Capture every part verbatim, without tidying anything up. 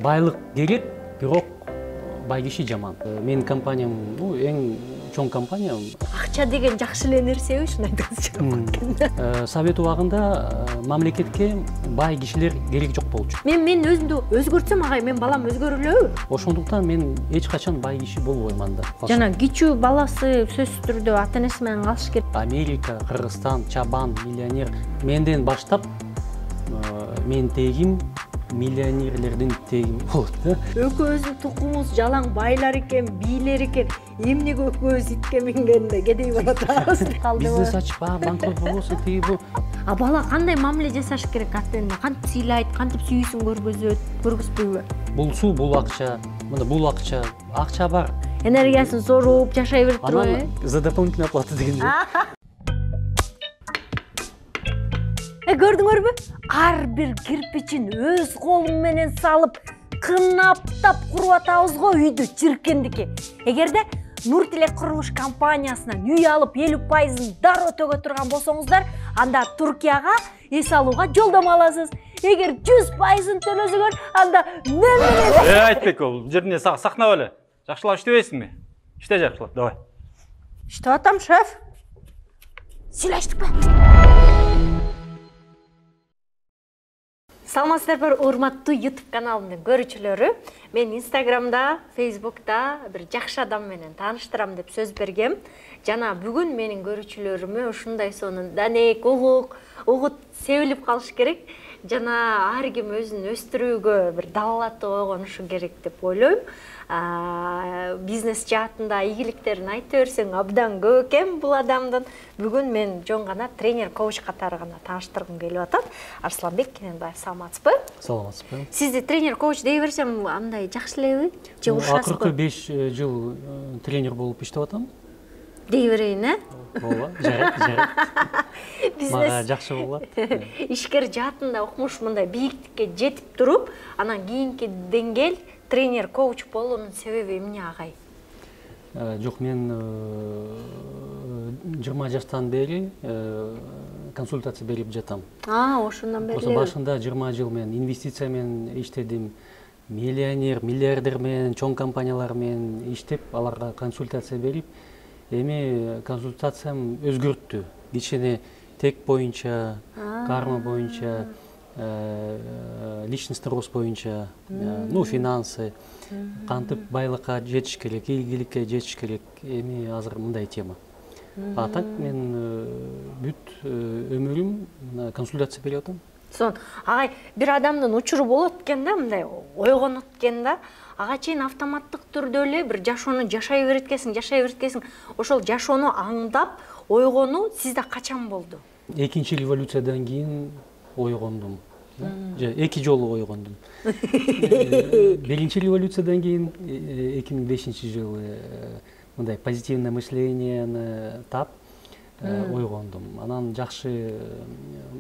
байлык керек, бирок бай киши жаман. Менин компаниям эң чоң компания. Акча деген жакшы эле нерсеби, ушуну айтыңызчы. Совет убагында мамлекетке бай кишилер керек жок болчу. Мен мен өзүмдү өзгөртсөм, агай, мен балам өзгөрүлөбү? Ошондуктан мен эч качан бай киши болбоймун да. Жана кичүү баласы сөзсүз түрдө ата-энеси менен калыш керек. Америка, Кыргызстан, чабан, миллионер. Менден баштап мен тегим миллионерлердин тегим болот да. Экөөбүздүн тукумубуз жалаң байлар экен, бийлер экен. Эмнеге экөөбүз итке мингенде кедей боло турабыз? Бизнес ачып, банкрот болбосун, тиги бу. А бала кандай мамиле жасаш керек ата-эне? Кантип сыйлайт, кантип сүйүүсүн көргөзөт, көргөзбөйбү? Бул суу, бул акча, мына бул акча, акча бар. Энергиясын соруп, жашай берип турбайбы? Анан за дополнительную оплату дегенде. Көрдүңөрбү? Ар бир кирпичин өз колум менен салып, кынаптап куруп атабыз го үйдү, чиркендики. Эгерде Нур Тилек курулуш компаниясынан үй алып элүү пайызын дароо төгө турган болсоңуздар, анда Туркияга эс алууга жолдомо аласыз. Эгер жүз пайызын төлөсөңөр, анда мен Э, Айтбек, бул жерине сакнап эле. Жакшылап иштебейсиңби? Иште жакшылап, давай. Иштеп атам, шеф. Сүйлөштүкпү? Саламатсыздарбы, урматтуу YouTube каналымдын көрүүчүлөрү. Мен Instagramда, Facebook'та бир жакшы адам менен тааныштырам деп сөз бергем. Жана бүгүн менин көрүүчүлөрүмө ушундай сонун данек, угук, угут себилип калыш керек. Жана ар ким өзүн өстүрүүгө бир далалаттуу ойгонушу керек деп ойлойм. Бизнес жаатында ийгиликтерин айта берсең абдан көп экен бул адамдын. Бүгүн мен жон гана тренер, коуч катары гана тааныштыргым келип атат. Арсланбек Кененбаев, саламатсызбы? Саламатсызбы. Сизди тренер, коуч дей берсем андай жакшы элеби? Же урушасызбы? Акыркы беш жыл тренер болуп иштеп атам. Дей берейин, э? Ооба, жарайт, жарайт. Мага жакшы болот. Ишкер жаатында окумуш мындай бийиктикке жетип туруп, анан кийинки деңгээл тренер, коуч болуунун себеби эмне, агай? Жок, мен жыйырма жаштан бери консультация берип жатам. А, ошондон бери. Ошо башында жыйырма жыл мен инвестиция менен иштедим. Миллионер, миллиардер менен, чоң компаниялар менен иштеп, аларга консультация берип, эми консультациям өзгөрттү. Кичине тек боюнча, карма боюнча, личностный рост боюнча, ну, финансы, кантип байлыкка жетиш керек, ийгиликке жетиш керек, эми азыр мындай тема. А так мен бүт өмүрүм консультация берип атам. Сон, агай, бир адамдын учуру болот экен да, мындай ойгонот экен да. Ага чейин автоматтык түрдө эле бир жашоону жашай берет экенсиң, жашай берет экенсиң. Ошол жашоону аңдап, ойгонуу сизде качан болду? Экинчи революциядан кийин ойгондум. Же эки жолу ойгондум. Биринчи революциядан кийин эки миң бешинчи жылы мындай позитивное мышлениени тап ойгондум. Анан жакшы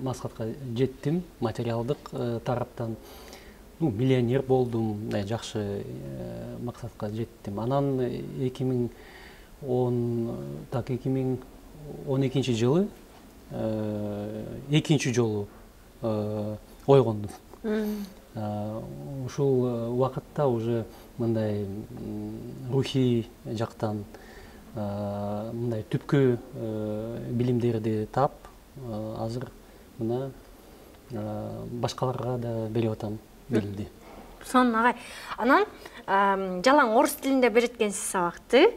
максатка жеттим, материалдык тараптан. Ну, миллионер болдум, жакшы максатка жеттим. Анан эки миң он так эки миң он экинчи жылы экинчи жолу ойгондум. Ушул убакытта уже мындай рухий жактан мындай түпкү билимдерди тап, азыр мына башкаларга да берип атам билимди. Сон, агай, анан жалаң орус тилинде берет экенсиз сабакты.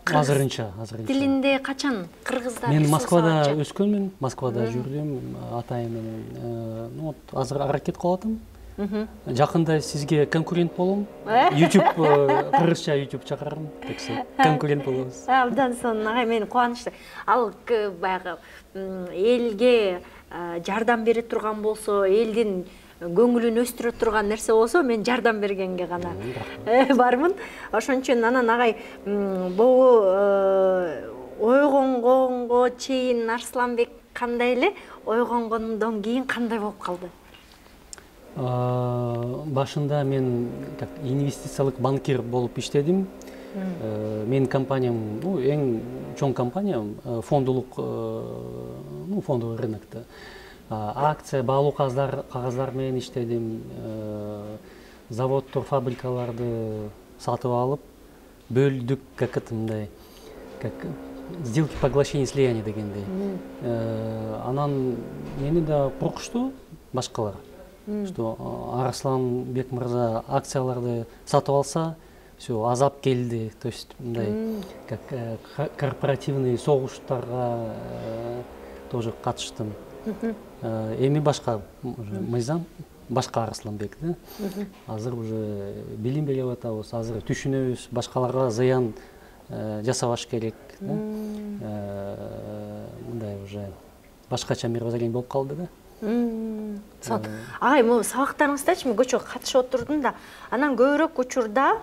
Азырынча, азырынча. Тилинде качан? Кыргызда? Мен Москвада өскөнмүн, Москвада жүрдүм, атайым менен. Ну, вот азыр аракет кылып атам. Жакында сизге конкурент болом. YouTube, кыргызча YouTube чакырам, таксы конкурент болобуз. Абдан сон, агай, мен кубанычтуу. Ал баягы элге жардам бере турган болсо, элдин көңүлүн өстүрө турган нерсе болсо, мен жардам бергенге гана бармын. Ошон үчүн анан агай, бул ойгонгонго чейин Арсланбек кандай эле, ойгонгондон кийин кандай болуп калды? Башында мен инвестициялык банкир болуп иштедим. Менин компаниям, эң чоң компания, фондулук, ну, фондовый рынокто. Акция, баалуу кагаздар менен иштедим. заводдор, фабрикаларды сатып алып бөлдүк, как это мындай, как сделки поглощения слияния дегендей. Анан мени да куркушту башкалар, что Арсланбек мырза акцияларды сатып алса, все, азап келди, то есть мындай как корпоративный согуштарга тоже катыштым. Эми башка мыйзам, башка Арсланбек да. Азыр уже билим берип атабыз, азыр түшүнөбүз, башкаларга зыян жасабаш керек. Мындай уже башкача мировоззрение болуп калды да. Агай, могу сабактарыңыздачы мен көчөгө катышып отурдум да, анан көбүрөөк учурда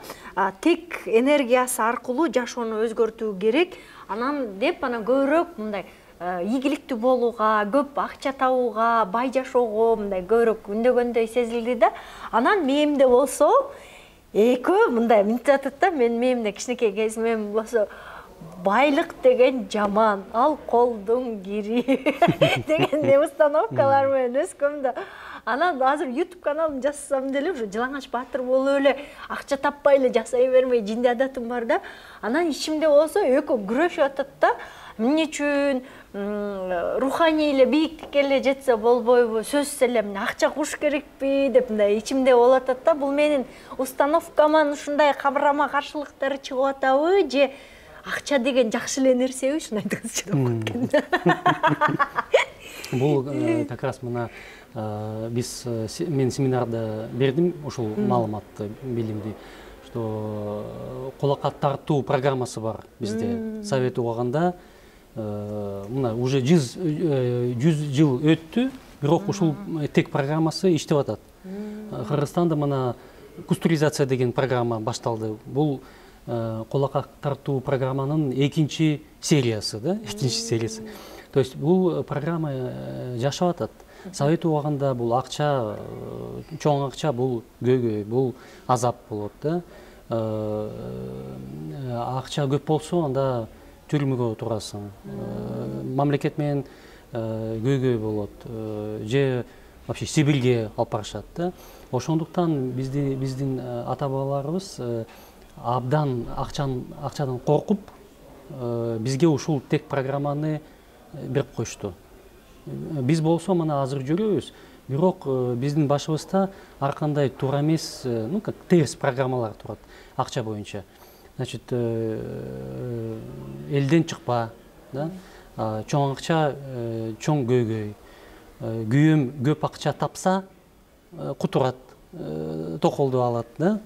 тек энергиясы аркылуу жашоону өзгөртүү керек, анан деп анан көбүрөөк мындай ийгиликтүү болууга, көп акча табууга, бай жашоого мындай көбүрөөк үндөгөндөй сезилди да. Анан мээмде болсо экөө мындай мынтип атат да, мен мээмде кичинекей кезимем болсо байлык деген жаман, ал колдун кири деген установкалар менен өскөм да. Анан азыр YouTube каналын жасасам деле уже Жылаңач Баатыр болуп эле акча таппай эле жасай бермей жинди адатым бар да. Анан ичимде болсо экөө күрөшүп атат да. Эмне үчүн руханий эле бийиктикке эле жетсе болбойбу, сөзсүз эле мына акча куш керекпи деп мындай ичимде болуп атат да. Бул менин установкаман ушундай карама каршылыктары чыгып атабы же акча деген жакшы эле нерсеби, ушуну айтыңызчы деп кеткен. Бул как раз мына биз мен семинарда бердим ушул маалыматты, билимди, что кулакка тартуу программасы бар бизде. Совет убагында мына уже жүз жыл өттү, бирок ушул тек программасы иштеп атат. Кыргызстанда мына кустуризация деген программа башталды. Бул кулакка тартуу программанын экинчи сериясы да, экинчи сериясы. То есть бул программа жашап атат. Совет убагында бул акча, чоң акча бул көйгөй, бул азап болот да. Акча көп болсо анда түрмөгө турасың. Мамлекет менен көйгөй болот. Же вообще Сибирге алып барышат да. Ошондуктан биздин ата бабаларыбыз абдан акчадан коркуп бизге ушул тек программаны берип койушту. Биз болсо мына азыр жүрөбүз, бирок биздин башыбызда ар кандай туура эмес, ну как терс программалар турат акча боюнча. Значит, элден чыкпа, да? Чоң акча, чоң көйгөй. Күйөөм көп акча тапса, кутурат, токолду алат, да?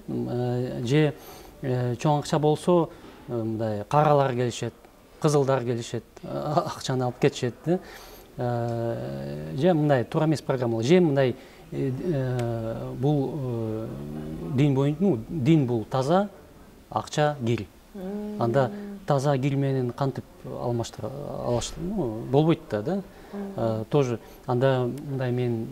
Же чоң акча болсо, мындай каралар келишет, кызылдар келишет, акчаны алып кетишет, да? Же мындай туура эмес программалар. Же мындай бул дин боюнча, ну, дин бул таза, акча кир. Анда таза кир менен кантип алмаштыра алыш, ну, болбойт да, да? Тоже анда мындай мен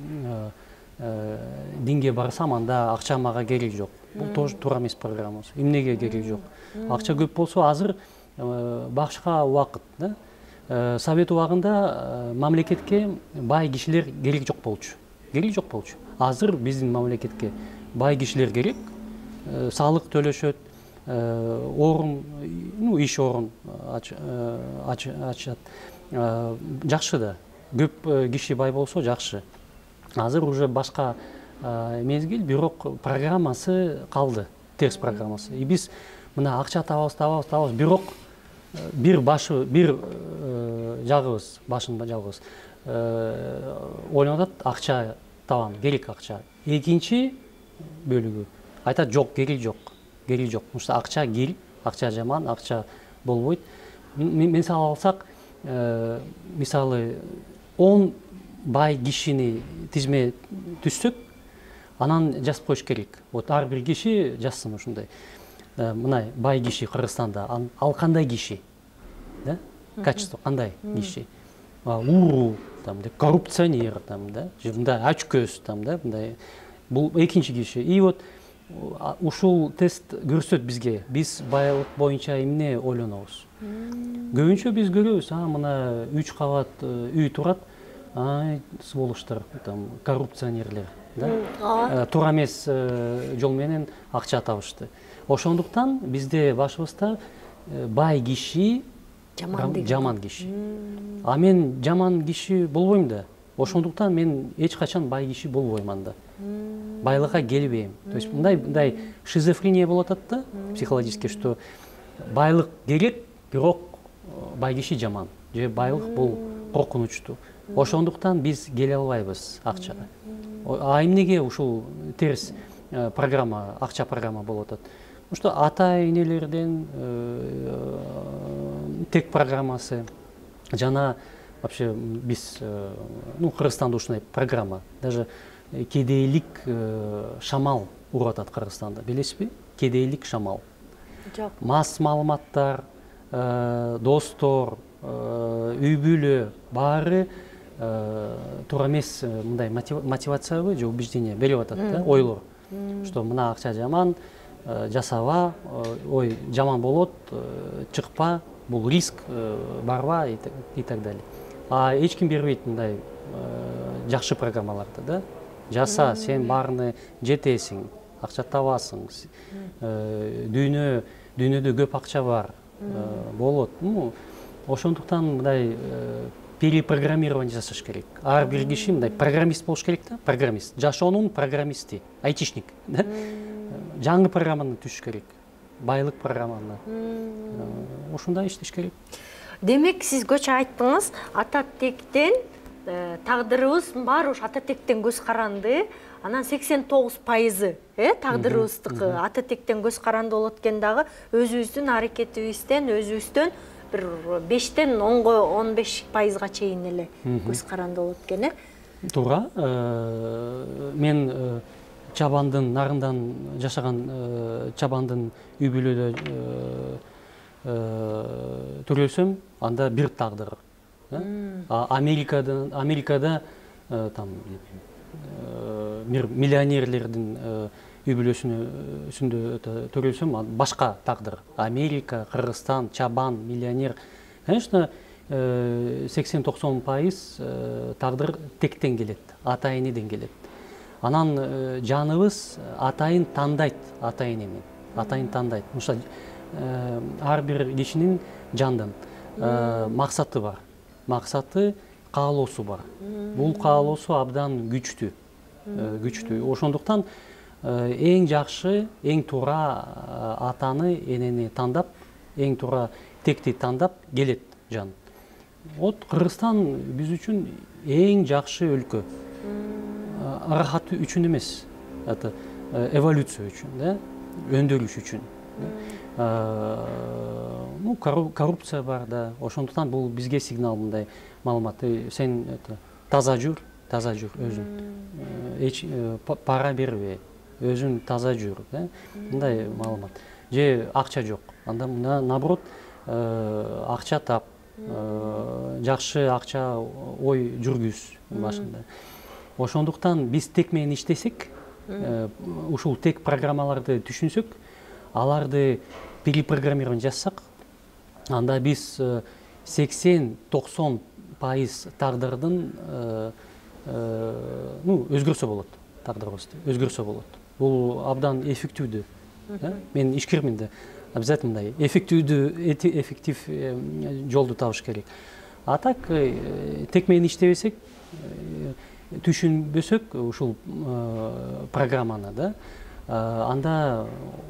динге барсам, анда акча мага кереги жок. Бул тоже туура эмес программа. Эмнеге кереги жок? Акча көп болсо азыр башка убакыт, да? Совет убагында мамлекетке бай кишилер керек жок болчу. Керек жок болчу. Азыр биздин мамлекетке бай кишилер керек. Салык төлөшөт, орун, ну, иш орун ачат. Жакшы да. Көп киши бай болсо жакшы. Азыр уже башка мезгил, бирок программасы калды, терс программасы. И биз мына акча табабыз, табабыз, табабыз, бирок бир башы, бир жагыбыз, башын жагыбыз ойлонуп атат, акча табам, керек акча. Экинчи бөлүгү айтат, жок, керек жок, керек жок. Потому что акча кир, акча жаман, акча болбойт. Мисал алсак, мисалы он бай кишини тизме түзсөк, анан жазып коюш керек. Вот ар бир киши жазсын ушундай. Мынай бай киши Кыргызстанда, ал кандай киши? Да? Качество кандай киши? Уру, там, да, коррупционер, там, да, же мындай ачкөз, там, да, мындай. Бул экинчи киши. И вот ушул тест көрсөт бизге. Биз байлык боюнча эмне ойлонобуз? Көбүнчө биз көрөбүз, а мына үч кабат үй турат, ай, сволочтор, там, коррупционерлер. да туура эмес жол менен акча табышты. Ошондуктан бизде башыбызда бай киши жаман киши. А мен жаман киши болбойм да. Ошондуктан мен эч качан бай киши болбойман да. Байлыкка келбейм. То есть мындай мындай шизофрения болуп атат да психологически, что байлык керек, бирок бай киши жаман. Же байлык бул коркунучтуу. Ошондуктан биз келе албайбыз акчага. А эмнеге ушул терс программа, акча программа болуп атат? Потому что ата-энелерден тек программасы жана вообще биз ну Кыргызстанда ушундай программа, даже кедейлик шамал уруп атат Кыргызстанда, билесизби? Кедейлик шамал. Жок. Мас маалыматтар, достор, үй бүлө баары туура эмес мындай мотивациябы же убеждение берип атат да, ойлор. Что мына акча жаман, жасаба, ой жаман болот, чыкпа, бул риск, барба и так далее. А эч ким бербейт мындай жакшы программаларды да. Жаса, сен баарына жетесиң, акча табасың, дүйнө дүйнөдө көп акча бар, болот. Ну, ошондуктан мындай перепрограммирование жасаш керек. Ар бир киши мындай программист болуш керек да, программист. Жашоонун программисти, айтишник, да? Жаңы программаны түшүш керек. Байлык программаны. Ошондой иштеш керек. Демек, сиз көчө айттыңыз, ата тектен тагдырыбыз баары ушу ата тектен көз каранды, анан сексен тогуз пайызы э тагдырыбыздыкы ата тектен көз каранды болот экен дагы, өзүбүздүн аракетибизден, өзүбүздөн бир бештен онго он беш пайызга чейин эле көз каранды болот экен э. Туура. Мен чабандын нарындан жашаган чабандын үй бүлөдө төрөлсөм, анда бир тагдыр. Америкада Америкада там миллионерлердин үй бүлөсүндө төрөлсөм, башка тагдыр. Америка, Кыргызстан, чабан, миллионер. Конечно, сексен токсон пайыз тагдыр тектен келет, ата-энеден келет. Анан жаныбыз атайын тандайт, ата-энени. Атайын тандайт. Мышта ар бир кишинин жандын максаты бар. Максаты, каалоосу бар. Бул каалоосу абдан күчтүү. Күчтүү. Ошондуктан эң жакшы, эң туура атаны, энени тандап, эң туура текти тандап келет жан. Вот Кыргызстан биз үчүн эң жакшы өлкө. Рахаты үчүн эмес, это эволюция үчүн, да, өндөрүш үчүн. Ну, коррупция бар да, ошондуктан бул бизге сигнал мындай маалымат. Сен это таза жүр, таза жүр өзүң. Эч пара бербе, өзүң таза жүр, да? Мындай маалымат. Же акча жок. Анда мына наоборот, акча тап, жакшы акча ой жүргүз башында. Ошондуктан биз тек менен иштесек, ушул тек программаларды түшүнсөк, аларды перепрограммирование жасасак, анда биз сексен токсон пайыз тагдырдын ну өзгөрсө болот, тагдырыбызды өзгөрсө болот. Бул абдан эффективдүү. Мен ишкермин да, обязательно мындай эффективдүү, эффектив жолду табыш керек. А так тек менен иштебесек, түшүнбөсөк ушул программаны, да, анда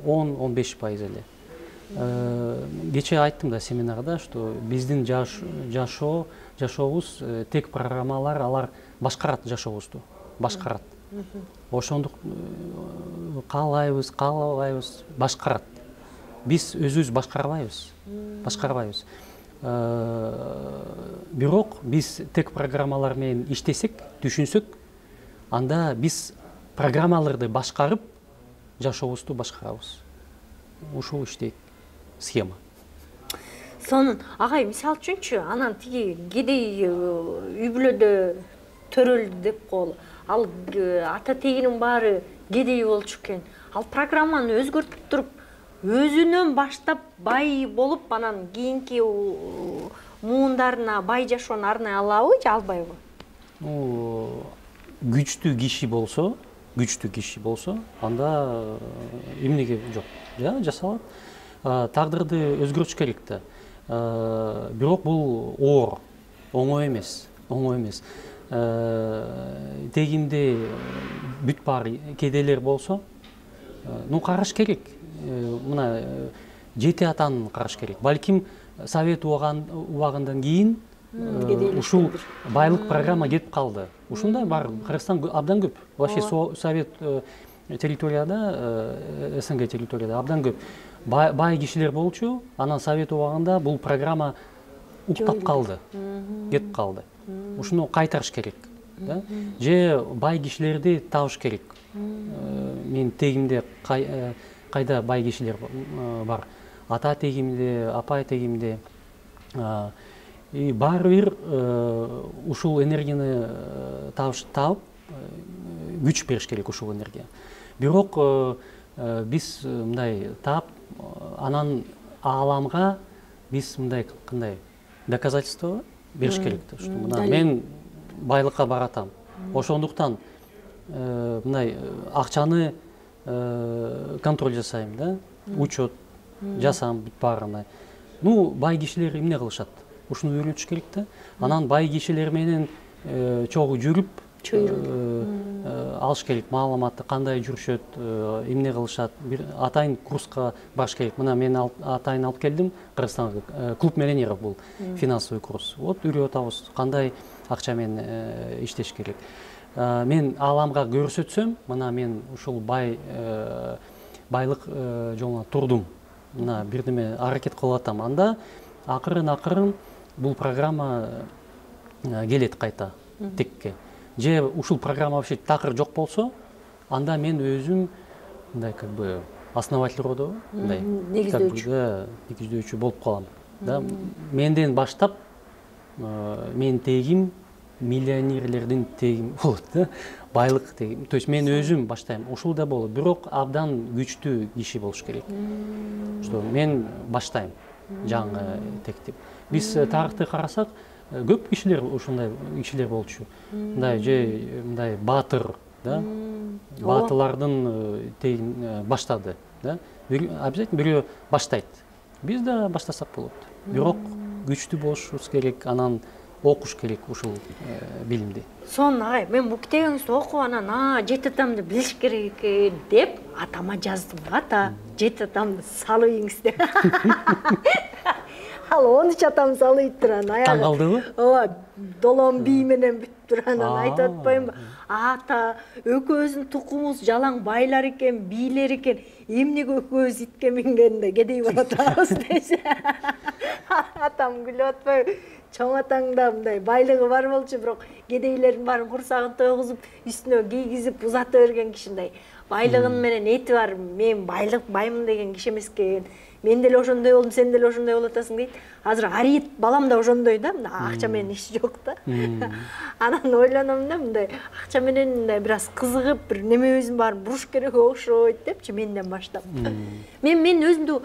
он он беш пайыз эле. Кече айттым да семинарда, что биздин жашоо, жашообуз тек программалар, алар башкарат жашообузду, башкарат. Ошондук каалайбыз, каалабайбыз, башкарат. Биз өзүбүз башкарбайбыз, башкарбайбыз. Бирок биз тек программалар менен иштесек, түшүнсөк, анда биз программаларды башкарып, жашообузду башкарабыз. Ушул иштейт схема. Сонун, агай, мисал үчүнчү, анан тиги кедей үй бүлөдө төрөлдү деп коелу. Ал ата тегинин баары кедей болчу экен. Ал программаны өзгөртүп туруп, өзүнөн баштап бай болуп, анан кийинки муундарына бай жашоону арнай алабы же албайбы? Күчтүү киши болсо, күчтүү киши болсо, анда эмнеге жок, жасалат. Тагдырды өзгөртүш керек да. Бирок бул оор, оңой эмес, оңой эмес. Тегимде бүт бар кедейлер болсо, ну караш керек. Мына жети атаны караш керек. Балким Совет убагындан кийин ушул байлык программа кетип калды. Ушундай бар, Кыргызстан абдан көп. Вообще Совет территорияда, СНГ территорияда абдан көп бай кишилер болчу. Анан Совет убагында бул программа уктап калды, кетип калды. Ушуну кайтарыш керек. Же бай кишилерди табыш керек. Мен тегимде кайда бай кишилер бар. Ата тегимде, апа тегимде. И баары бир ушул энергияны табыш табып, күч бериш керек ушул энергия. Бирок биз мындай таап, анан ааламга биз мындай кандай доказательство бериш керек да, что мына мен байлыкка баратам. Ошондуктан мындай акчаны контроль жасайм да, учет жасам бүт баарына. Ну, бай кишилер эмне кылышат? Ушуну үйрөтүш керек да. Анан бай кишилер менен чогуу жүрүп, алыш керек маалыматты, кандай жүрүшөт, эмне кылышат. Бир атайын курска барыш керек. Мына мен атайын алып келдим Кыргызстанга. Клуб миллионеров бул финансовый курс. Вот үйрөтүп атабыз, кандай акча менен иштеш керек. Мен ааламга көрсөтсөм, мына мен ушул бай байлык жолуна турдум. Мына бирдеме аракет кылып атам. Анда акырын-акырын бул программа келет кайта текке. Же ушул программа вообще такыр жок болсо, анда мен өзүм мындай как бы основатель роду, мындай негиздөөчү, негиздөөчү болуп калам. Да, менден баштап мен тегим миллионерлердин тегим болот да, байлык тегим. То есть мен өзүм баштайм. Ушул да болот, бирок абдан күчтүү киши болуш керек. Что мен баштайм жаңы тектип. Биз тарыхты карасак, көп кишилер ушундай кишилер болчу. Мындай же мындай баатыр, да? Баатылардын тегин баштады, да? Обязательно бирөө баштайт. Биз да баштасак болот. Бирок күчтүү болушубуз керек, анан окуш керек ушул билимди. Сон агай, мен бул китебиңизди окуп анан а жети атамды билиш керек экен деп атама жаздым. Ата, жети атамды салыйыңыз деп. Ал он үч атам салып турган аягы. Таң калдыбы? Ооба, долон бий менен бүтүп турган, айтып атпаймынбы? Ата, экөөбүздүн тукумубуз жалаң байлар экен, бийлер экен. Эмнеге экөөбүз итке мингенде кедей болуп атабыз десе. Атам күлүп атпайбы? Чоң атаң да мындай байлыгы бар болчу, бирок кедейлердин баарын курсагын тойгузуп, үстүнө кийгизип узата берген кишиндей. Байлыгын менен эти бар, мен байлык баймын деген киши эмес экен. Мен деле ошондой болдум, сен деле ошондой болуп атасың дейт. Азыр арийет балам да ошондой да, мындай акча менен иши жок да. Анан ойлоном да, мындай акча менен мындай бир аз кызыгып, бир немебиздин баарын буруш керек окшойт депчи менден баштап. Мен мен өзүмдү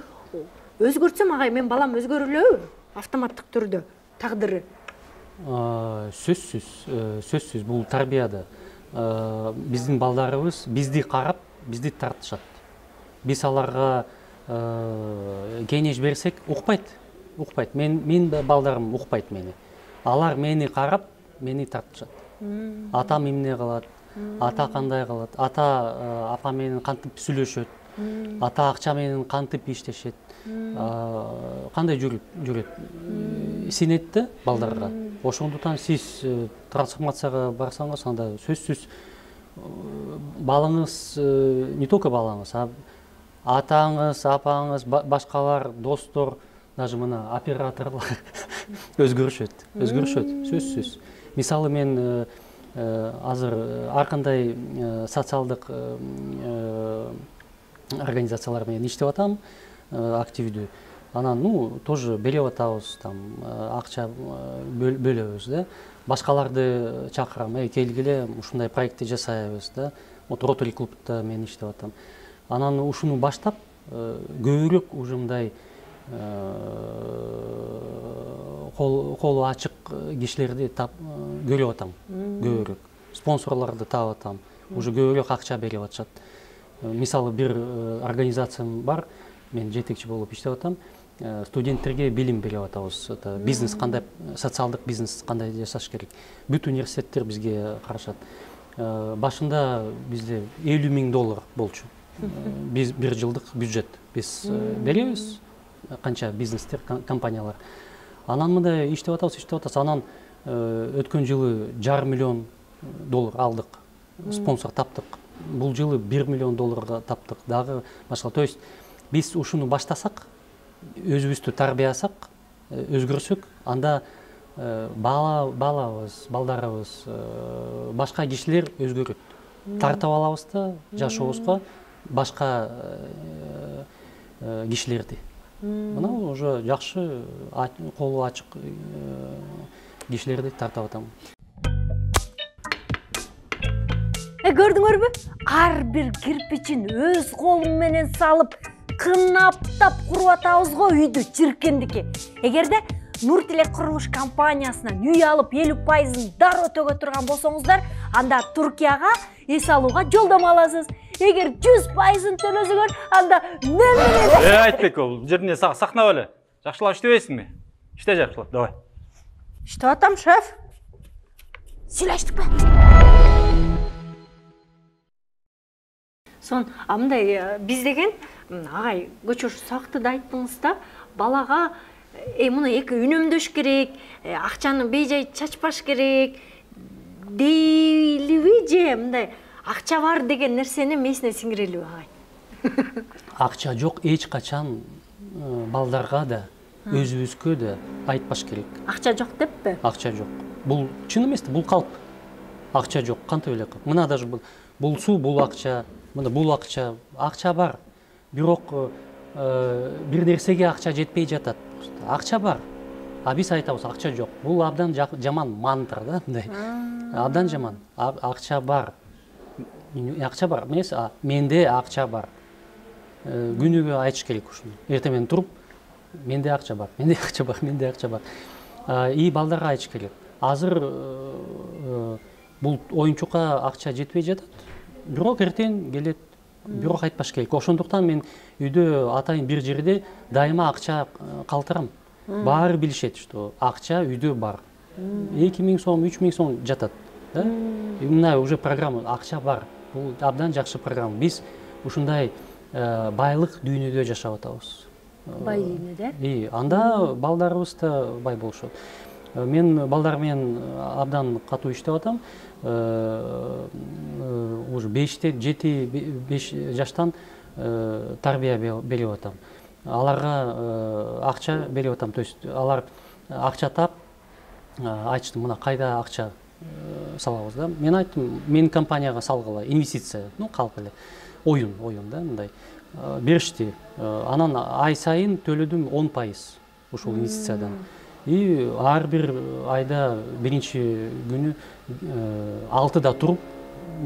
өзгөртсөм, агай, мен балам өзгөрүлөбү? Автоматтык түрдө тагдыры. Сөзсүз, сөзсүз бул тарбияда. Биздин балдарыбыз бизди карап, бизди тартышат. Биз аларга кеңеш берсек, укпайт, укпайт. Мен мен балдарым укпайт мени. Алар мени карап, мени тартышат. Атам эмне кылат? Ата кандай кылат? Ата апа менен кантип сүйлөшөт? Ата акча менен кантип иштешет? Кандай жүрөт? Синет да балдарга. Ошондуктан сиз трансформацияга барсаңыз, анда сөзсүз балаңыз, не только балаңыз, а атаңыз, апаңыз, башкалар, достор, даже мына операторлор өзгөрүшөт, өзгөрүшөт, сөзсүз. Мисалы мен азыр ар кандай социалдык организациялар менен иштеп атам, активдүү. Анан, ну, тоже берип атабыз, там, акча бөлөбүз, да. Башкаларды чакырам, эй, келгиле, ушундай проектти жасайбыз, да. Вот Rotary клубта мен иштеп атам. Анан ушуну баштап, көбүрөөк уже мындай колу ачык кишилерди көрүп атам, көбүрөөк. Спонсорлорду таап атам. уже көбүрөөк акча берип атышат. Мисалы бир организациям бар, мен жетекчи болуп иштеп атам. Студенттерге билим берип атабыз. Бизнес кандай, социалдык бизнес кандай жасаш керек. Бүт университеттер бизге карашат. Башында бизде элүү миң доллар болчу. Биз бир жылдык бюджет биз беребиз. Канча бизнестер, компаниялар. Анан мындай иштеп атабыз, иштеп атабыз. Анан өткөн жылы жарым миллион доллар алдык. Спонсор таптык. Бул жылы бир миллион долларга таптык. Дагы башка. То есть биз ушуну баштасак, өзүбүздү тарбияласак, өзгөрсөк, анда бала балабыз, балдарыбыз, башка кишилер өзгөрөт. Тартып алабыз да жашообузга башка кишилерди. Мына уже жакшы, колу ачык кишилерди тартып атам. Э, көрдүңөрбү? Ар бир кирпичин өз колум менен салып, кынаптап куруп атабыз го үйдү, чиркендики. Эгерде Нуртилек курулуш компаниясынан үй алып элүү пайызын дароо төгө турган болсоңуздар, анда Туркияга эс алууга жолдомо аласыз. Эгер жүз пайызын төлөсөңөр, анда немелер? Э, Айтбек, бул жерде сакнап эле. Жакшылап иштебейсиңби? Иште жакшылап, давай. Иштеп атам, шеф. Сүйлөштүкпү? Сон, амындай биз деген агай көчөш сакты да айттыңыз да, балага э муну эки үнөмдөш керек, акчаны бейжай чачпаш керек дейлиби же мындай акча бар деген нерсени месине сиңирелиби агай? Акча жок, эч качан балдарга да, өзүбүзгө да айтпаш керек. Акча жок деппи? Акча жок. Бул чын эмес, бул калп. Акча жок, кантип эле калп. Мына даже бул бул суу, бул акча, мына бул акча, акча бар. Бирок бир нерсеге акча жетпей жатат. Акча бар. А биз айтабыз, акча жок. Бул абдан жаман мантра да, мындай. Абдан жаман. Акча бар. Акча бар. Эмес, менде акча бар. Күнүгө айтыш керек ушуну. Эртең менен туруп, менде акча бар, менде акча бар, менде акча бар. И балдарга айтыш керек. Азыр бул оюнчукка акча жетпей жатат. Бирок эртең келет. Бирок айтпаш керек. Ошондуктан мен үйдө атайын бир жерде дайыма акча калтырам. Баары билишет, что акча үйдө бар. эки миң сом, үч миң сом жатат. Мына уже программа, акча бар. Бул абдан жакшы программа. Биз ушундай байлык дүйнөдө жашап атабыз. Бай дүйнөдө? И анда балдарыбыз да бай болушат. Мен балдар менен абдан катуу иштеп атам. Уже беште, жети, беш жаштан тарбия берип атам. Аларга акча берип атам. То есть алар акча тап, айтышты, мына кайда акча салабыз да. Мен айттым, менин компанияга салгыла, инвестиция, ну калп эле. Оюн, оюн да, мындай. Беришти. Анан ай сайын төлөдүм он пайыз ушул инвестициядан. И ар бир айда биринчи күнү алтыда туруп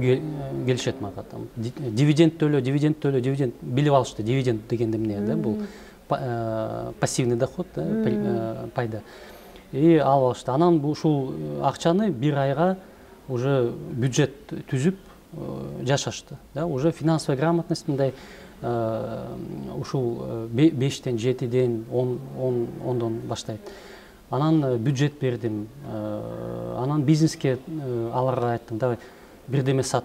келишет мага. Дивиденд төлө, дивиденд төлө, дивиденд билип алышты. Дивиденд дегенде эмне да? Бул пассивный доход, пайда. И алып алышты. Анан ушул акчаны бир айга уже бюджет түзүп жашашты. Да, уже финансовая грамотность мындай ушул бештен, жетиден, ондон баштайт. Анан бюджет бердим. Анан бизнеске аларга айттым, давай бирдеме сат,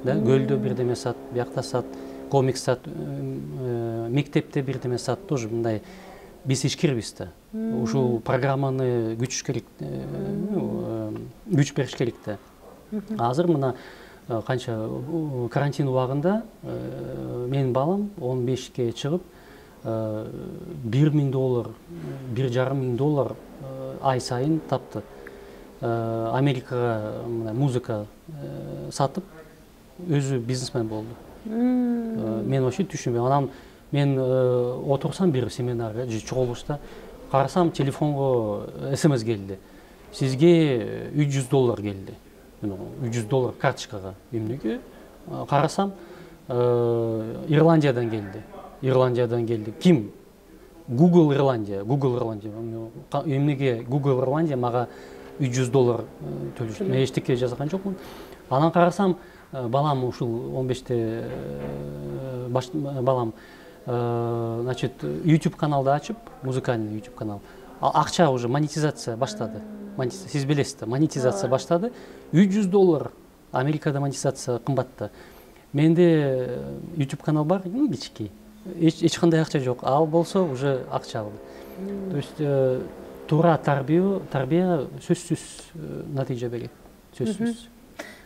да, көлдө бирдеме сат, биякта сат, комикс сат, мектепте бирдеме сат, тоже мындай биз ишкербиз да. Ушул программаны күчүш керек, күч бериш керек да. Азыр мына канча карантин убагында менин балам он бешке чыгып бир миң доллар, бир жарым миң доллар ай сайын тапты. Америкага музыка сатып, өзү бизнесмен болду. Мен вообще түшүнбөйм. Анан мен отурсам бир семинарга же чогулушта, карасам телефонго смс келди. Сизге үч жүз доллар келди. үч жүз доллар карточкага. Эмнеге? Карасам Ирландиядан келди. Ирландиядан келди. Ким? Google Ирландия, Google Ирландия. Эмнеге Google Ирландия мага үч жүз доллар төлөшт. Мен эчтеке жазган жокмун. Анан карасам балам ушул он беште балам значит YouTube каналды ачып, музыкальный YouTube канал. Акча уже монетизация баштады. Сиз билесиз да, монетизация баштады. үч жүз доллар Америкада монетизация кымбатта. Менде YouTube канал бар, ну кичикей. Эч кандай акча жок. Ал болсо уже акча алды. То есть туура тарбия, тарбия сөзсүз натыйжа берет. Сөзсүз.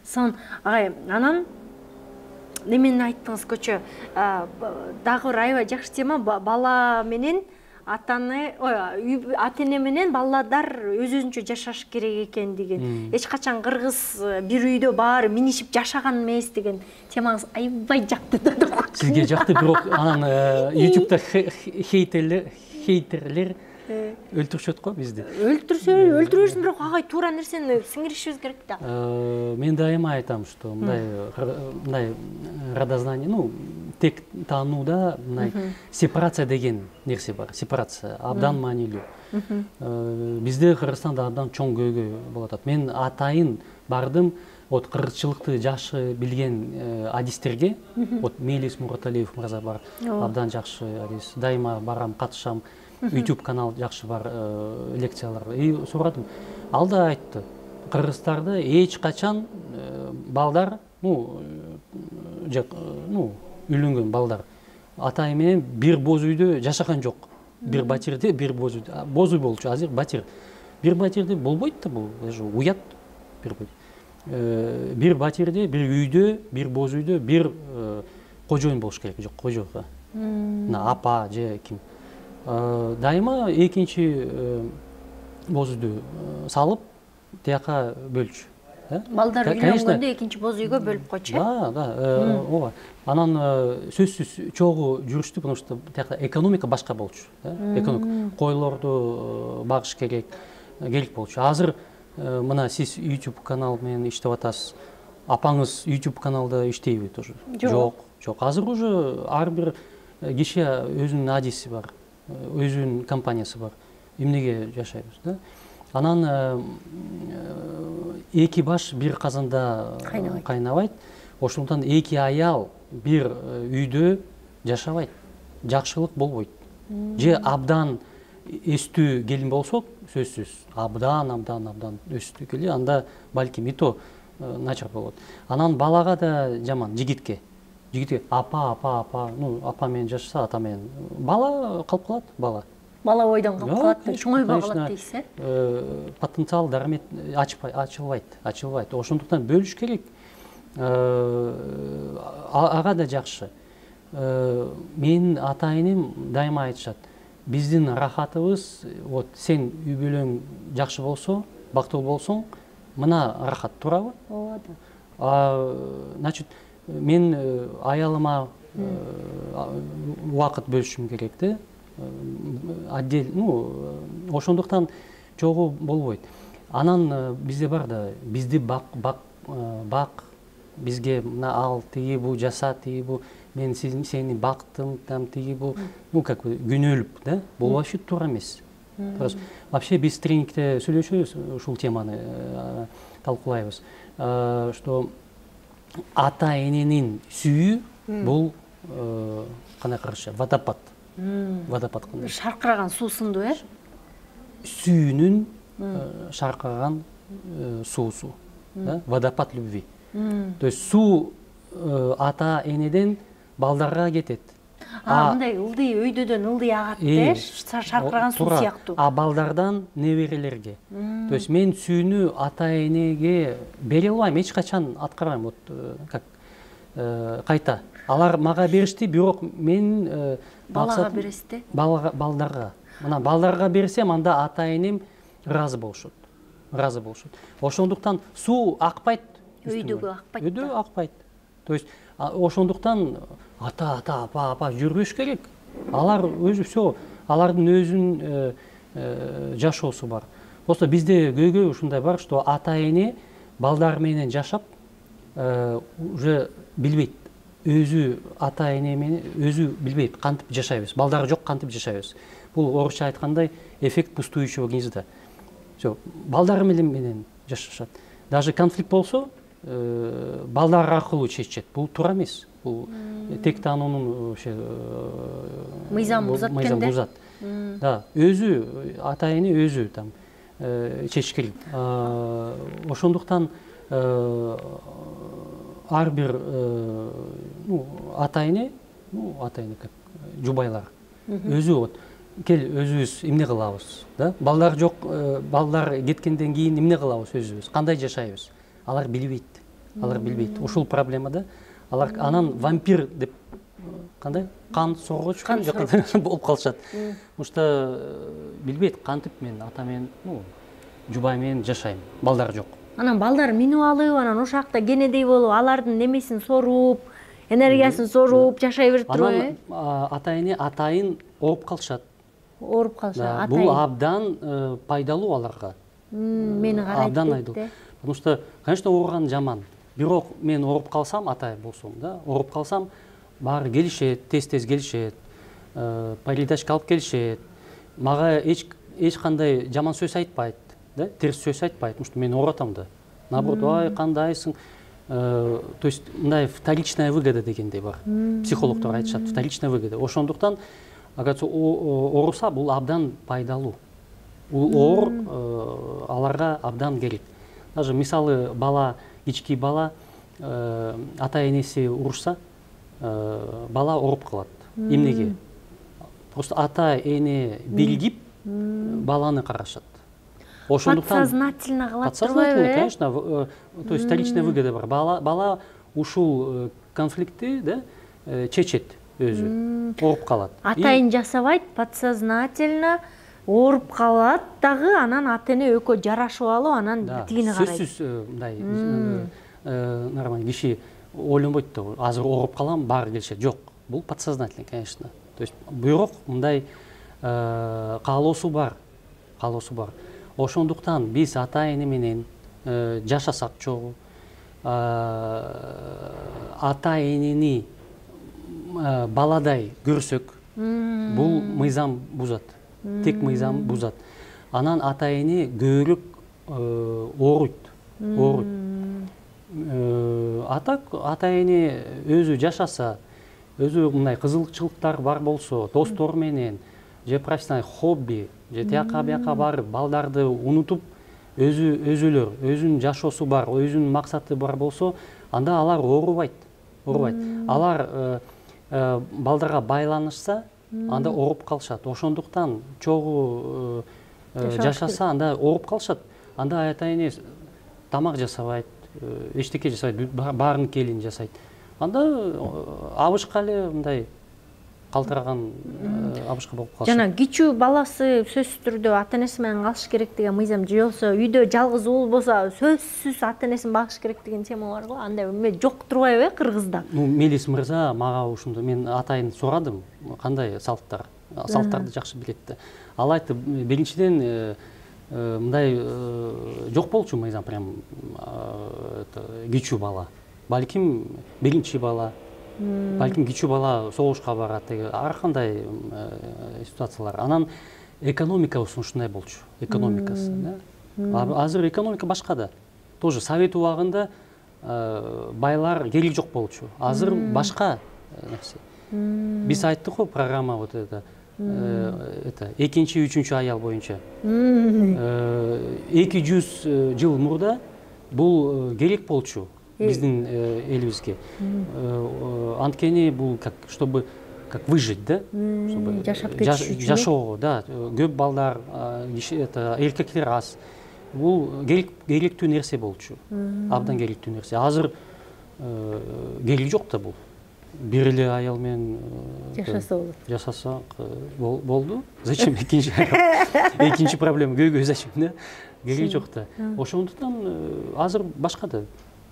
Сон агай, анан немени айттыңыз көчө, дагы бир аябай жакшы тема, бала менен атаны, ой, ата-эне менен баладар өз-өзүнчө жашаш керек экен деген. Эч качан кыргыз бир үйдө баары минишип жашаган эмес деген темаңыз аябай жакты да. Сизге жакты, бирок анан YouTube'да хейтерлер, хейтерлер өлтүрүшөт го бизди. Өлтүрсө, өлтүрөсүн, бирок агай туура нерсени сиңиришибиз керек да. Мен дайыма айтам, что мындай мындай родознание, ну, тек таанууда мындай сепарация деген нерсе бар. Сепарация абдан маанилүү. Бизде Кыргызстанда абдан чоң көйгөй болуп атат. Мен атайын бардым, вот кыргызчылыкты жакшы билген адистерге, вот Мелис Мураталиев мырза бар, абдан жакшы адис. Дайыма барам, катышам. YouTube канал жакшы бар, лекциялар. И сурадым. Ал да айтты, кыргыздарда эч качан балдар, ну, ну, үйлөнгөн балдар атай менен бир боз үйдө жашаган жок. Бир батирде, бир боз үйдө. Боз үй болчу, азыр батир. Бир батирде болбойт да бул, даже уят бир бой. Бир батирде, бир үйдө, бир боз үйдө бир кожоюн болуш керек, жок, кожо. На апа же ким. Дайыма экинчи боз үйдү салып, тияка бөлчү. Балдар үйлөнгөндө экинчи боз үйгө бөлүп койчу. Да, да, ооба. Анан сөзсүз чогуу жүрүштү, потому что тияка экономика башка болчу. Экономика койлорду багыш керек, керек болчу. Азыр мына сиз YouTube канал менен иштеп атасыз. Апаңыз YouTube каналда иштейби тоже? Жок, жок. Азыр уже ар бир киши өзүнүн адиси бар, өзүнүн компаниясы бар. Эмнеге жашайбыз, да? Анан эки баш бир казанда кайнабайт. Ошондон эки аял бир үйдө жашабайт. Жакшылык болбойт. Же абдан өстүү келин болсок, сөзсүз, абдан, абдан, абдан өстүү келин, анда балким и то начар болот. Анан балага да жаман, жигитке. Жигитке апа, апа, апа, ну, апа менен жашаса, ата менен. Бала калып калат, бала. Бала ойдон калып калат, чоңойбой калат дейсиз, э? Потенциал дармет ачылбайт, ачылбайт. Ошондуктан бөлүш керек. Ага да жакшы. Менин ата-энем дайыма айтышат. Биздин рахатыбыз, вот сен үй бүлөң жакшы болсо, бактылуу болсоң, мына рахат, туурабы? Ооба да. Значит, мен аялыма убакыт бөлүшүм керек да. Отдел, ну, ошондуктан чогуу болбойт. Анан бизде бар да, бизди бак, бак, бак, бизге мына ал тиги бу жаса, тиги бу, мен сени бактым, там тиги бу, ну как бы күнөөлүп, да, болбошу туура эмес. Вообще биз тренингте сүйлөшөбүз, ушул теманы талкуулайбыз, что ата-эненин сүйүү бул кандай карашы, водопад. Водопад кандай? Шаркыраган суу сынду, э? Сүйүүнүн шаркыраган суусу, да? Водопад любви. То есть суу ата-энеден балдарга кетет. А, мындай ылдый өйдөдөн ылдый агат, э? Шаркыраган суу сыяктуу. А балдардан неберелерге. То есть мен сүйүүнү ата-энеге бере албайм, эч качан аткарбайм, вот как кайта. Алар мага беришти, бирок мен балага бересизди? Балдарга. Мына балдарга берсем, анда ата-энем ыраазы болушот. Ыраазы болушот. Ошондуктан суу акпайт. Өйдөгө акпайт. Өйдө акпайт. То есть ошондуктан ата, ата, апа, апа жүрбөш керек. Алар өзү всё, алардын өзүнүн жашоосу бар. Просто бизде көйгөй ушундай бар, что ата-эне балдар менен жашап, уже билбейт. Өзү ата-эне менен өзү билбейт кантип жашайбыз. Балдары жок, кантип жашайбыз. Бул орусча айткандай эффект пустующего гнезда. Всё, балдары менен жашашат. Даже конфликт болсо, балдар аркылуу чечет. Бул туура эмес. Бул тек анын ошо мыйзам бузат экен да. Бузат. Да, өзү ата-эне өзү там чечиш керек. Ошондуктан ар бир ата-эне, ну, ата-эне как жубайлар өзү вот кел өзүбүз эмне кылабыз, да? Балдар жок, балдар кеткенден кийин эмне кылабыз өзүбүз? Кандай жашайбыз? Алар билбейт. Алар билбейт. Ушул проблема да. Алар анан вампир деп кандай? Кан соргоч болуп калышат. Потому что билбейт, кантип мен ата менен, ну, жубай менен жашайм. Балдар жок. Анан балдар минип алып, анан ошол жакта кенедей болуп, алардын немесин соруп, энергиясын соруп жашай берип турбайбы? Анан ата-эне атайын ооруп калышат. Ооруп калышат. Бул абдан пайдалуу аларга. Мени карайт. Абдан пайдалуу. Потому что, конечно, ооруган жаман. Бирок мен ооруп калсам, атай болсом, да, ооруп калсам, баары келишет, тез-тез келишет, передачка алып келишет. Мага эч эч кандай жаман сөз айтпайт, да, терс сөз айтпайт, потому что мен оорутам да. Наоборот, ай, кандайсың? То есть, мындай вторичная выгода дегендей бар. Психологдор айтышат, вторичная выгода. Ошондуктан, агачы ооруса, бул абдан пайдалуу. Бул оор аларга абдан керек. Даже мисалы бала, кички бала ата-энеси урушса, бала ооруп калат. Эмнеге? Просто ата-эне биригип баланы карашат. Ошондуктан подсознательно кылат турбайбы? Конечно, то есть вторичная выгода бар. Бала бала ушул конфликтти, да, чечет өзү, ооруп калат. Атайын жасабайт, подсознательно ооруп калат дагы, анан ата-эне экөө жарашып алып, анан тигини карайт. Сөзсүз мындай нормально киши ойлонбойт да, азыр ооруп калам, баары келишет. Жок, бул подсознательно, конечно. То есть бирок мындай каалоосу бар, каалоосу бар. Ошондуктан биз ата-эне менен жашасак чогуу, ата-энени баладай көрсөк, бул мыйзам бузат. Тек мыйзам бузат. Анан ата-эне көбүрөөк ооруйт, ооруйт. Атак ата-эне өзү жашаса, өзү мындай кызыкчылыктар бар болсо, достор менен, же профессионалдык хобби, же тияка бияка барып, балдарды унутуп, өзү өзүлөр, өзүнүн жашоосу бар, өзүнүн максаты бар болсо, анда алар оорубайт, оорубайт. Алар балдарга байланышса, анда ооруп калышат. Ошондуктан чогуу жашаса, анда ооруп калышат. Анда ата-эне тамак жасабайт, эчтеке жасабайт, баарын келин жасайт. Анда абышка эле мындай калтыраган абышка болуп калышат. Жана кичүү баласы сөзсүз түрдө ата-энеси менен калыш керек деген мыйзам, же болбосо үйдө жалгыз уул болсо сөзсүз ата-энесин багыш керек деген тема бар го. Андай эме жок турбайбы Кыргызда? Ну, Мелис мырза мага ушундай, мен атайын сурадым, кандай салттар, салттарды жакшы билет да. Ал айтты, биринчиден мындай жок болчу мыйзам, прям кичүү бала. Балким биринчи бала, балким кичүү бала согушка барат, ар кандай ситуациялар. Анан экономикасы ушундай болчу, экономикасы, да. Азыр экономика башка да. Тоже совет убагында байлар кереги жок болчу. Азыр башка нерсе. Биз айттык го программа вот это, это экинчи, үчүнчү аял боюнча. эки жүз жыл мурда бул керек болчу биздин элибизге. Анткени бул как чтобы как выжить, да? Чтобы жашап кетиш үчүн. Жашоого, да, көп балдар, это эркектер аз. Бул керектүү нерсе болчу. Абдан керектүү нерсе. Азыр кереги жок да бул. Бир эле аял менен жашаса болот. Жашаса болду. Зачем экинчи аял? Экинчи проблема көйгөй зачем, да? Кереги жок да. Ошондуктан азыр башка да.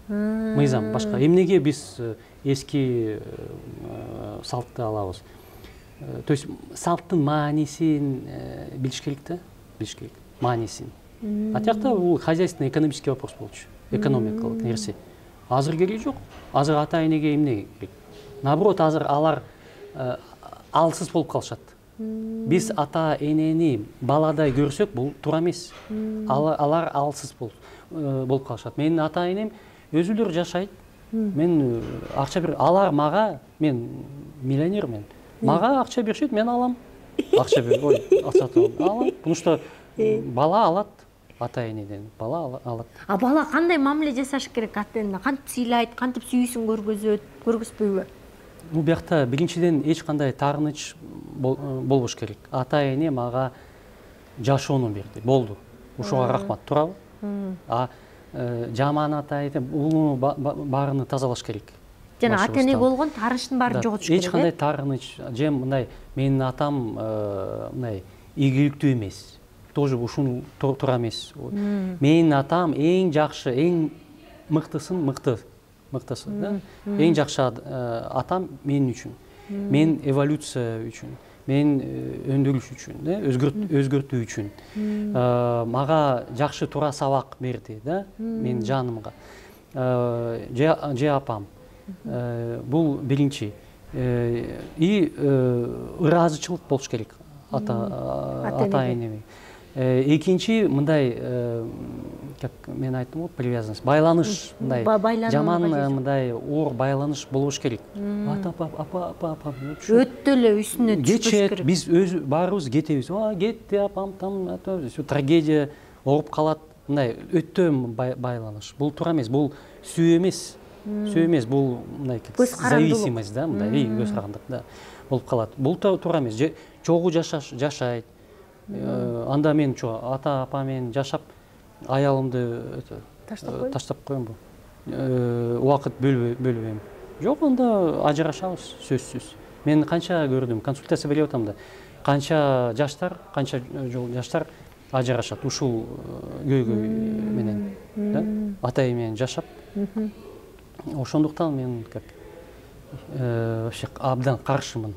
Мыйзам башка. Эмнеге биз эски салтты алабыз? То есть салттын маанисин билиш керек да, билиш керек. Маанисин. А тиякта бул хозяйственный экономический вопрос болчу. Экономикалык нерсе. Азыр кереги жок. Азыр ата-энеге эмне керек? Наоборот, азыр алар алсыз болуп калышат. Биз ата-энени баладай көрсөк, бул туура эмес. Алар алсыз болуп калышат. Менин ата-энем өзүлөр жашайт. Мен акча бер, алар мага, мен миллионермен. Мага акча беришет, мен алам. Акча бер, ой, акча алам. Потому что бала алат ата-энеден, бала алат. А бала кандай мамиле жасаш керек ата-энене? Кантип сыйлайт, кантип сүйүүсүн көргөзөт, көргөзбөйбү? Бул биякта биринчиден эч кандай таарыныч болбош керек. Ата-эне мага жашоону берди, болду. Ушуга рахмат, туурабы? А жаман ата-эне бул баарыны тазалаш керек. Жана ата-эне болгон таарынычтын баарын жоготуш керек. Эч кандай таарыныч, же мындай менин атам мындай ийгиликтүү эмес. Тоже ушуну туура эмес. Менин атам эң жакшы, эң мыктысын мыкты, мыктысы, да? Эң жакшы атам мен үчүн. Мен эволюция үчүн, мен өндүрүш үчүн, да, өзгөртүү үчүн. Мага жакшы туура сабак берди, да, менин жанымга. Же апам. Бул биринчи. И ыраазычылык болуш керек ата-энеме. Экинчи, мындай, как мен айттым го, привязанность, байланыш, мындай, жаман мындай оор байланыш болуш керек. Ата, апа, апа, апа, апа. Өттө эле үстүнө түшпөш керек. Кетет, биз өз баарыбыз кетебиз. А, кетти апам, там, трагедия ооруп калат. Мындай өттө байланыш. Бул туура эмес, бул сүйүү эмес. Сүйүү эмес, бул мындай зависимость, да, мындай, көз карандык, да, болуп калат. Бул туура эмес. Чогуу жашайт. Анда мен ата апа менен жашап, аялымды таштап коембу. Убакыт бөлбөйм. Жок, анда ажырашабыз, сөзсүз. Мен канча көрдүм, консультация берип атам да. Канча жаштар, канча жол жаштар ажырашат ушул көйгөй менен, да? Ата менен жашап. Ошондуктан мен как вообще абдан каршымын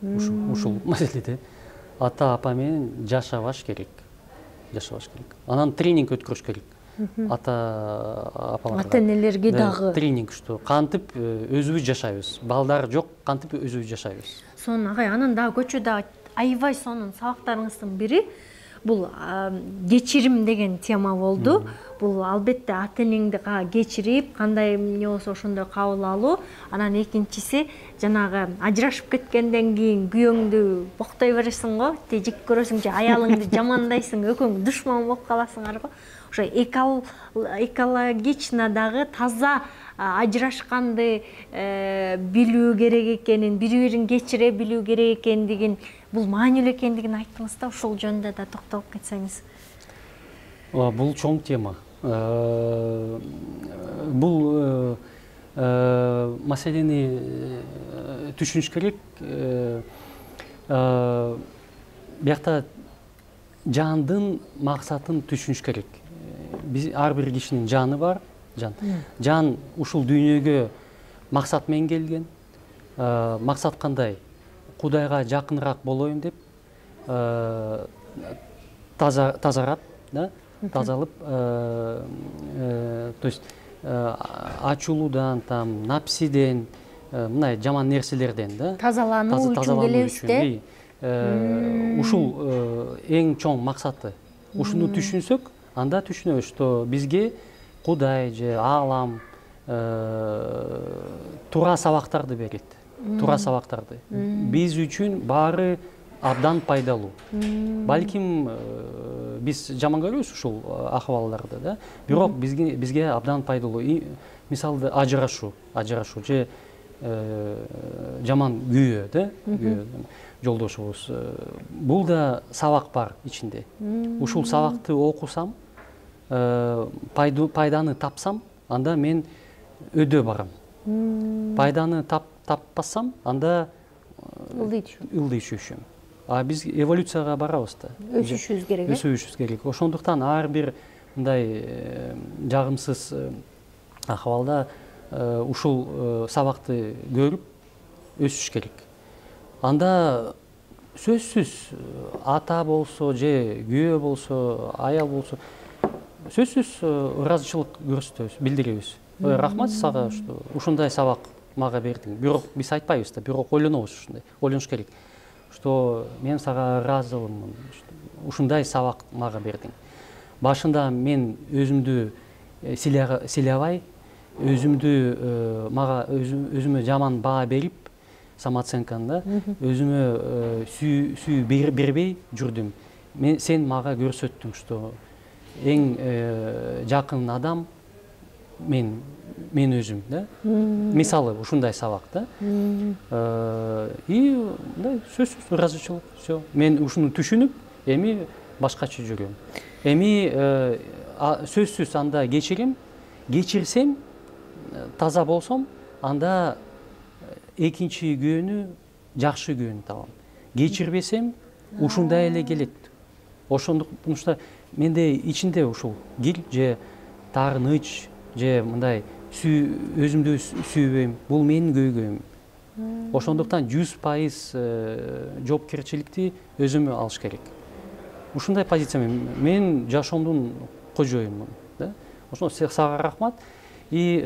ушул маселеде. Ата апа менен жашабаш керек. Жашабаш керек. Анан тренинг өткөрүш керек. Ата апаларга. Ата-энелерге дагы тренинг, что кантип өзүбүз жашайбыз. Балдар жок, кантип өзүбүз жашайбыз. Сонун агай, анан дагы көчөдө аябай сонун сабактарыңыздын бири бул кечирим деген тема болду. Бул албетте ата-энеңди кечирип, кандай эмне болсо ошондой кабыл алуу. Анан экинчиси жанагы ажырашып кеткенден кийин күйөөңдү боктой бересиң го, жек көрөсүң же аялыңды жамандайсың, экөөң душман болуп каласыңар го. Ошо экологично дагы таза ажырашканды билүү керек экенин, бири-бирин кечире билүү керек экендигин, бул маанилүү экендигин айттыңыз да, ушул жөнүндө да токтолуп кетсеңиз. Бул чоң тема. Бул маселени түшүнүш керек. Биякта жандын максатын түшүнүш керек. Биз ар бир кишинин жаны бар, жан. Жан ушул дүйнөгө максат менен келген. Максат кандай? Кудайга жакыныраак болоюн деп тазарат, да? Тазалып, то есть ачуулуудан, там, напсиден, мындай жаман нерселерден, да? Тазалануу үчүн келебиз да? Ушул эң чоң максаты. Ушуну түшүнсөк, анда түшүнөбүз, что бизге Кудай же Алам туура сабактарды берет. Туура сабактарды. Биз үчүн баары абдан пайдалуу. Балким биз жаман көрөбүз ушул акыбалдарды, да? Бирок бизге бизге абдан пайдалуу. Мисалда ажырашуу, ажырашуу же жаман күйөө, да? Күйөө жолдошубуз. Бул да сабак бар ичинде. Ушул сабакты окусам, пайданы тапсам, анда мен өйдө барам. Пайданы таппасам, анда ылдый түшөм. А биз эволюцияга барабыз да. Өсүшүбүз керек. Өсүшүбүз керек. Ошондуктан ар бир мындай жагымсыз акыбалда ушул сабакты көрүп өсүш керек. Анда сөзсүз ата болсо же күйөө болсо, аял болсо, сөзсүз ыраазычылык көрсөтөбүз, билдиребиз. Рахмат сага, что ушундай сабак мага бердиң. Бирок биз айтпайбыз да, бирок ойлонобуз ушундай. Ойлонуш керек. Что мен сага ыраазымын, ушундай сабак мага бердиң. Башында мен өзүмдү сыйлабай, өзүмдү мага өзүмө жаман баа берип, самооценканы да өзүмө сүйүү бербей жүрдүм. Мен сен мага көрсөттүң, что эң жакын адам мен мен өзүм да. Мисалы ушундай сабак да. И мындай сөзсүз ыраазычылык. Все. Мен ушуну түшүнүп, эми башкача жүрөм. Эми сөзсүз анда кечирим, кечирсем, таза болсом, анда экинчи күнү жакшы күн табам. Кечирбесем, ушундай эле келет. Ошондуктан что менде ичинде ушул кир же таарыныч же мындай өзүмдү сүйбөйм. Бул менин көйгөйүм. Ошондуктан жүз пайыз жоопкерчиликти өзүмө алыш керек. Ушундай позициям. Мен жашоомдун кожоюмун, да. Ошондо сага рахмат. И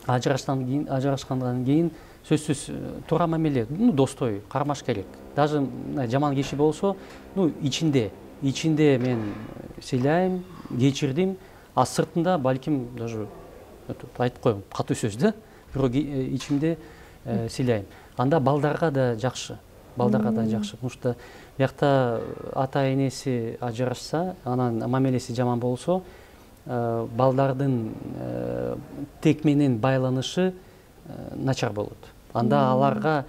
ажырашкандан кийин, ажырашкандан кийин сөзсүз туура мамиле, ну достой кармаш керек. Даже жаман киши болсо, ну ичинде, ичинде мен сыйлайм, кечирдим, а сыртында балким даже айтып коем, катуу сөз да, бирок ичимде сыйлайм. Анда балдарга да жакшы, балдарга да жакшы. Потому что биякта ата энеси ажырашса, анан мамилеси жаман болсо, балдардын тек менен байланышы начар болот. Анда аларга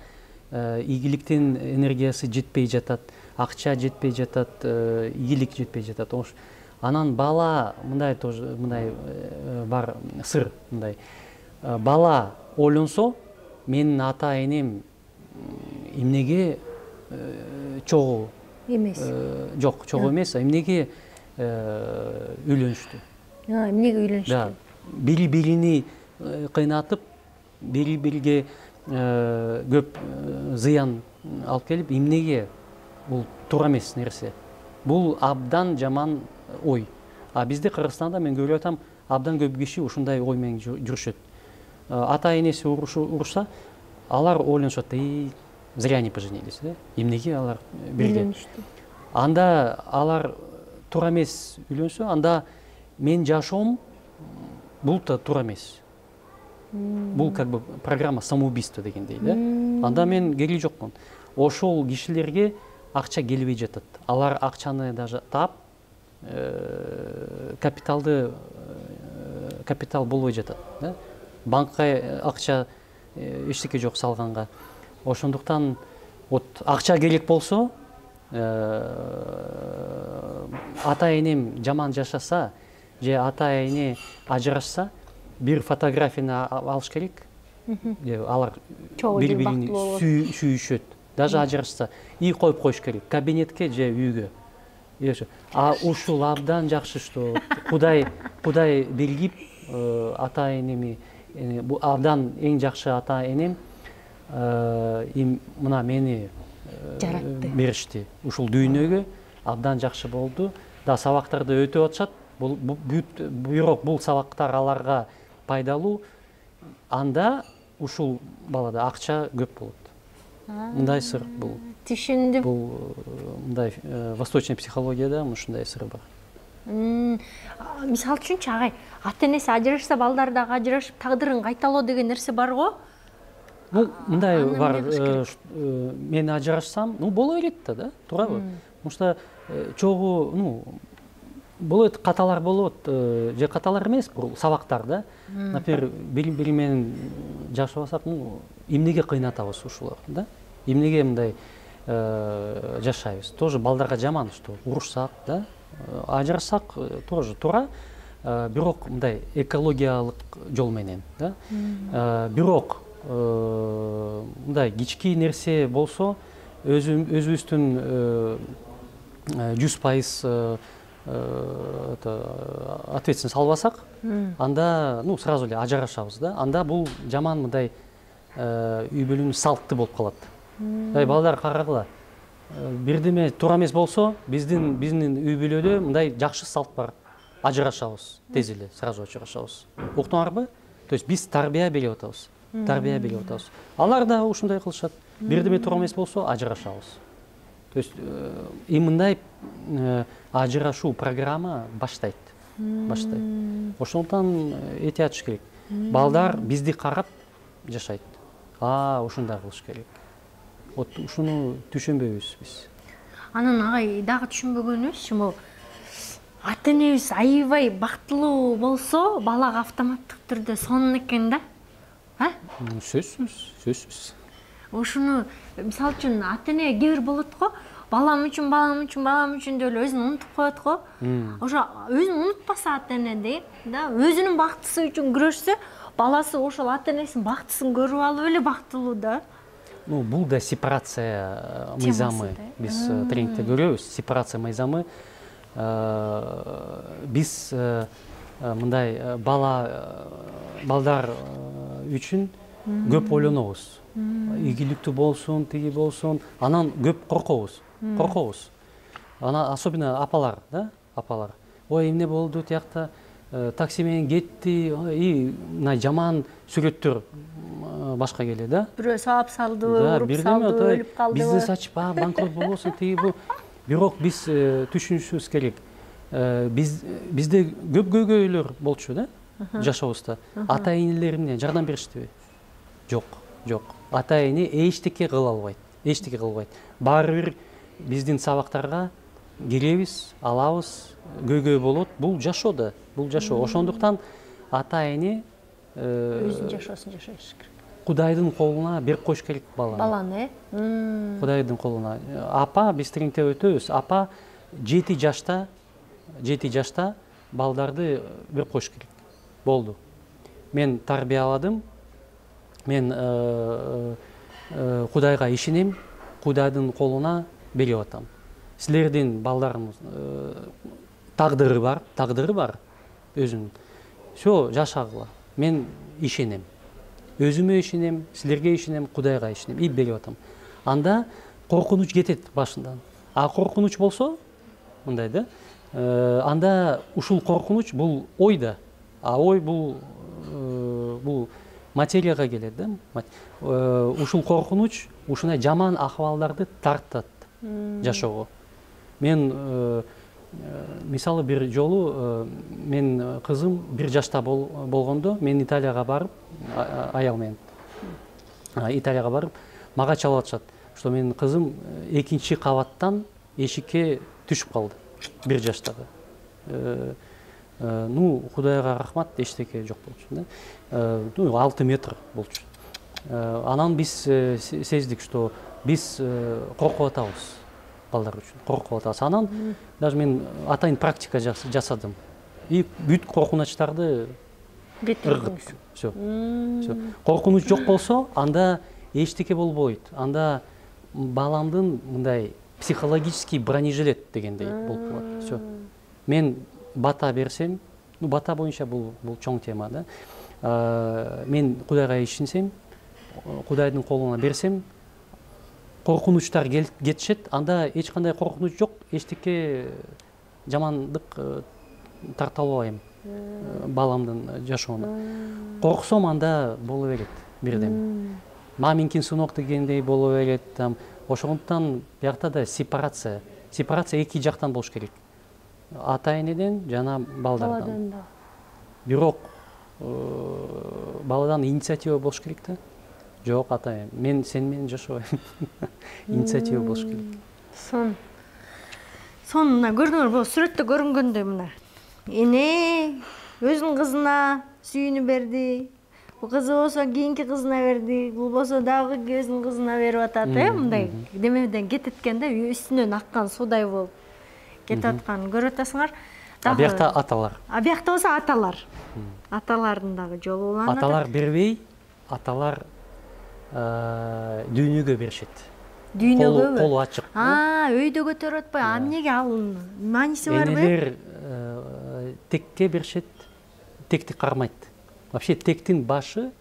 ийгиликтин энергиясы жетпей жатат, акча жетпей жатат, ийгилик жетпей жатат. Анан бала мындай тоже мындай бар сыр мындай. Бала ойлонсо, менин ата энем эмнеге чогуу эмес. Жок, чогуу эмес, эмнеге үйлөнүштү. А, эмнеге үйлөнүштү? Да. Бири-бирини кыйнатып, бири-бириге көп зыян алып келип, эмнеге бул туура эмес нерсе. Бул абдан жаман ой. А бизде Кыргызстанда мен көрүп атам, абдан көп киши ушундай ой менен жүрүшөт. Ата энеси урушса, алар ойлонушат, "Эй, зря не поженились", да? Эмнеге алар бирге? Анда алар туура эмес үйлөнсө, анда мен жашоом бул да туура эмес. Бул как бы программа самоубийства дегендей, да? Анда мен кереги жокмун. Ошол кишилерге акча келбей жатат. Алар акчаны даже таап, капиталды капитал болбой жатат, да? Банкка акча эчтеке жок салганга. Ошондуктан вот акча керек болсо, ата энем жаман жашаса, же ата эне ажырашса, бир фотографияны алыш керек. Алар бири-бирин сүйүшөт. Даже ажырашса, и коюп коюш керек. Кабинетке же үйгө. А ушул абдан жакшы, что Кудай Кудай белгип ата энеми, бу абдан эң жакшы ата энем мына мени жаратты, беришти. Ушул дүйнөгө абдан жакшы болду. Да сабактарды өтүп атышат. Бирок бул сабактар аларга пайдалуу. Анда ушул балада акча көп болот. Мындай сыр бул. Түшүндүм. Бул мындай восточный психологияда ушундай сыр бар. Мисалы үчүнчү агай, ата энеси ажырашса, балдар дагы ажырашып, тагдырын кайталоо деген нерсе бар го? Бул мындай бар. Мен ажырашсам, ну боло берет да, туурабы? Потому что чогуу, ну болот, каталар болот, же каталар эмес, бул сабактар да. Например, бири-бири менен жашабасак, ну эмнеге кыйнатабыз ушуларды, да? Эмнеге мындай жашайбыз? Тоже балдарга жаман, что урушсак, да? Ажырашсак тоже туура, бирок мындай экологиялык жол менен, да? Бирок мындай кички нерсе болсо, өзүбүздүн жүз пайыз ответственность албасак, анда ну сразу эле ажырашабыз да. Анда бул жаман мындай үй бүлөнүн салты болуп калат. Балдар карагыла. Бирдеме туура эмес болсо, биздин биздин үй бүлөдө мындай жакшы салт бар. Ажырашабыз, тез эле сразу ажырашабыз. Уктуңарбы? То есть биз тарбия берип атабыз. Тарбия берип атабыз. Алар да ушундай кылышат. Бирдеме туура эмес болсо, ажырашабыз. То есть и мындай ажырашуу программа баштайт. Баштайт. Ошондон этият болуш керек. Балдар бизди карап жашайт. А, ушундай кылыш керек. Вот ушуну түшүнбөйбүз биз. Анан агай дагы түшүнбөгөнүбүз могу ата энебиз аябай бактылуу болсо, балага автоматтык түрдө сонун экен да. А? Сөзсүз, сөзсүз. Ошону мисалы үчүн ата эне кээ бир болот го, балам үчүн, балам үчүн, балам үчүн деп эле өзүн унутуп коет го. Ошо өзүн унутпаса ата эне дейт да, өзүнүн бактысы үчүн күрөшсө, баласы ошол ата энесинин бактысын көрүп алып эле бактылуу да. Ну, бул да сепарация мыйзамы. Биз тренингде көрөбүз, сепарация мыйзамы. Биз мындай бала балдар үчүн көп ойлонобуз. Ийгиликтүү болсун, тиги болсун, анан көп коркобуз. Коркобуз. Ана особенно апалар, да, апалар. Ой, эмне болду тиякта, такси менен кетти, и мына жаман сүрөттөр башка келет, да? Бирөө саап салды, уруп салды, өлүп калды. Бизнес ачып, банкрот болбосун, тиги бу. Бирок биз түшүнүшүбүз керек. Биз бизде көп көйгөйлөр болчу, да? Жашообузда. Ата энелер эмне жардам бериштиби? Жок, жок. Ата эне эчтеке кыла албайт. Эчтеке кылбайт. Баары бир биздин сабактарга киребиз, алабыз, көйгөй болот. Бул жашоо да, бул жашоо. Ошондуктан ата эне өзүнүн жашоосун жашаш керек. Кудайдын колуна берип коюш керек баланы. Баланы, э? Кудайдын колуна. Апа, биз тренингде өтөбүз. Апа жети жашта, жети жашта балдарды берип коюш керек. Болду. Мен тарбияладым. Мен Кудайга ишенем, Кудайдын колуна берип атам. Силердин балдарыңыз тагдыры бар, тагдыры бар өзүнүн. Всё, жашагыла. Мен ишенем. Өзүмө ишенем, силерге ишенем, Кудайга ишенем. И берип атам. Анда коркунуч кетет башынан. А коркунуч болсо, мындай да, анда ушул коркунуч бул ой да. А ой бул бул материяга келет да. Ушул коркунуч ушундай жаман акыбалдарды тартат жашоого. Мен мисалы бир жолу мен кызым бир жашта болгондо мен Италияга барып, аял менен Италияга барып, мага чалып атышат, что менин кызым экинчи кабаттан эшикке түшүп калды. Бир жаштагы. Ну, Кудайга рахмат, эчтеке жок болчу да. Ну, алты метр болчу. Анан биз сездик, что биз коркуп атабыз балдар үчүн. Коркуп атабыз. Анан даже мен атайын практика жасадым. И бүт коркунучтарды ыргыт. Всё. Всё. Коркунуч жок болсо, анда эчтеке болбойт. Анда баламдын мындай психологический бронежилет дегендей болуп калат. Всё. Мен бата берсем, ну бата боюнча бул бул чоң тема да. Мен Кудайга ишенсем, Кудайдын колуна берсем, коркунучтар кетишет, анда эч кандай коркунуч жок, эчтеке жамандык тарта албайм баламдын жашоону. Корксом, анда боло берет бирдем. Маминкин сынок дегендей боло берет. Ошондуктан биякта да сепарация. Сепарация эки жактан болуш керек. Ата энеден жана балдардан. Бирок баладан инициатива болуш керек да. Жок, ата эне, мен сен менен жашабайм. Инициатива болуш керек. Сон. Сон мына көрдүңөр, бул сүрөттө көрүнгөндөй мына. Эне өзүнүн кызына сүйүүнү берди. Бул кызы болсо кийинки кызына берди. Бул болсо дагы өзүнүн кызына берип атат, э, мындай демеден кететкен да, үстүнөн аккан суудай болуп кетип атканын көрүп атасыңар. А биякта аталар. А биякта болсо аталар. Аталардын дагы жолу уланат. Аталар бербей, аталар дүйнөгө беришет. Дүйнөгө колу ачык. А, өйдө көтөрүп атпай, а эмнеге ал мааниси барбы? Энелер текке беришет, текти кармайт. Вообще тектин башы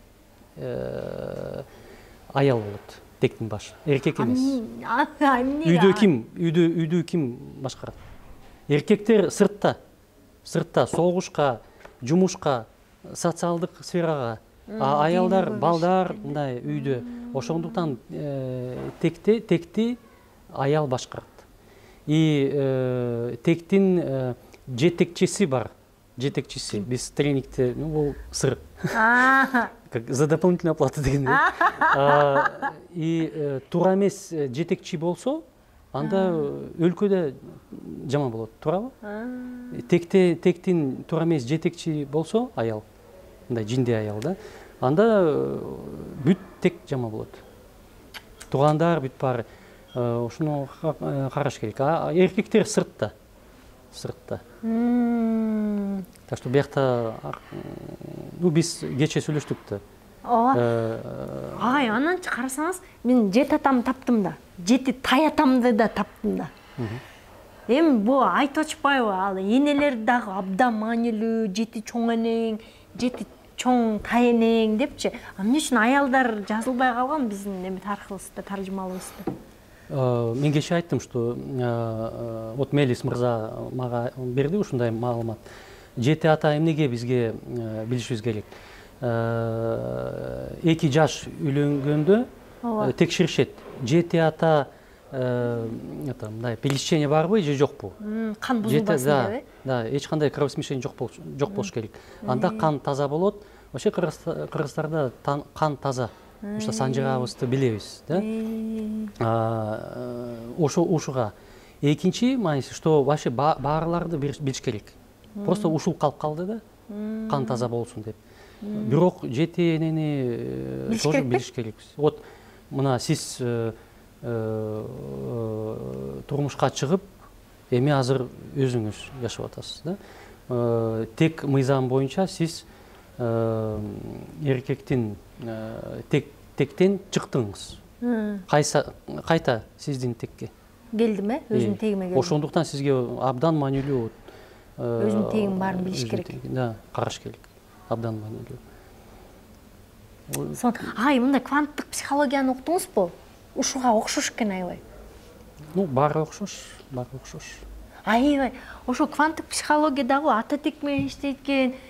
аял болот. Тектин башы, эркек эмес. Үйдө ким, үйдө үйдү ким башкарат? Эркектер сыртта, сыртта согушка, жумушка, социалдык сферага, а аялдар, балдар мындай үйдө. Ошондуктан текти, текти аял башкарат. И тектин жетекчиси бар. жетекчиси. Биз тренингте, ну бул сыр. А, Как за дополнительную оплату дегенде. И туура эмес жетекчи болсо, анда өлкөдө жаман болот, туурабы? Текте тектин туура эмес жетекчи болсо, аял, мындай жинде аял да, анда бүт тек жаман болот. Туугандар бүт баары ошону караш керек. А эркектер сыртта. Сыртта. Так что биякта, ну биз кечээ сүйлөштүк да. ооба. Ай, ананчы карасаңыз, мен жет атамды таптым да, жети тай атамды да таптым да. Эми бу айтып атышпайбы, ал энелер дагы абдан маанилүү, жети чоң энең, жети чоң тай энең депчи. А эмне үчүн аялдар жазылбай калган биздин эми тарыхыбызда, таржымалыбызда? Мен кечээ айттым, что вот Мелис мырза мага берди ушундай маалымат. Жети ата эмнеге бизге билишибиз керек? Эки жаш үйлөнгөндө текшеришет. Жети ата мындай пересечение барбы же жокпу? Кан бузулбасын депби? Да, эч кандай кровосмешение жок болуш керек. Анда кан таза болот. Вообще кыргыздарда кан таза. Ошо санжырабызды билебиз, да? Ошо ушуга. Экинчи мааниси, что вообще баарларды билиш керек. Просто ушул калып калды да, кан таза болсун деп. Бирок жети энени тоже билиш керекпиз. Вот мына сиз турмушка чыгып, эми азыр өзүңүз жашап атасыз, да? Тек мыйзам боюнча сиз эркектин тектен чыктыңыз. Кайта сиздин текке келдим э, өзүнүн тегиме келдим. Ошондуктан сизге абдан маанилүү өзүнүн тегин баарын билиш керек. Да, караш керек. Абдан маанилүү. Ай, мындай кванттык психологияны уктуңузбу? Ушуга окшош экен аябай. Ну, баары окшош, баары окшош. Аябай, ошо кванттык психологиядагы ата тек менен иштейт,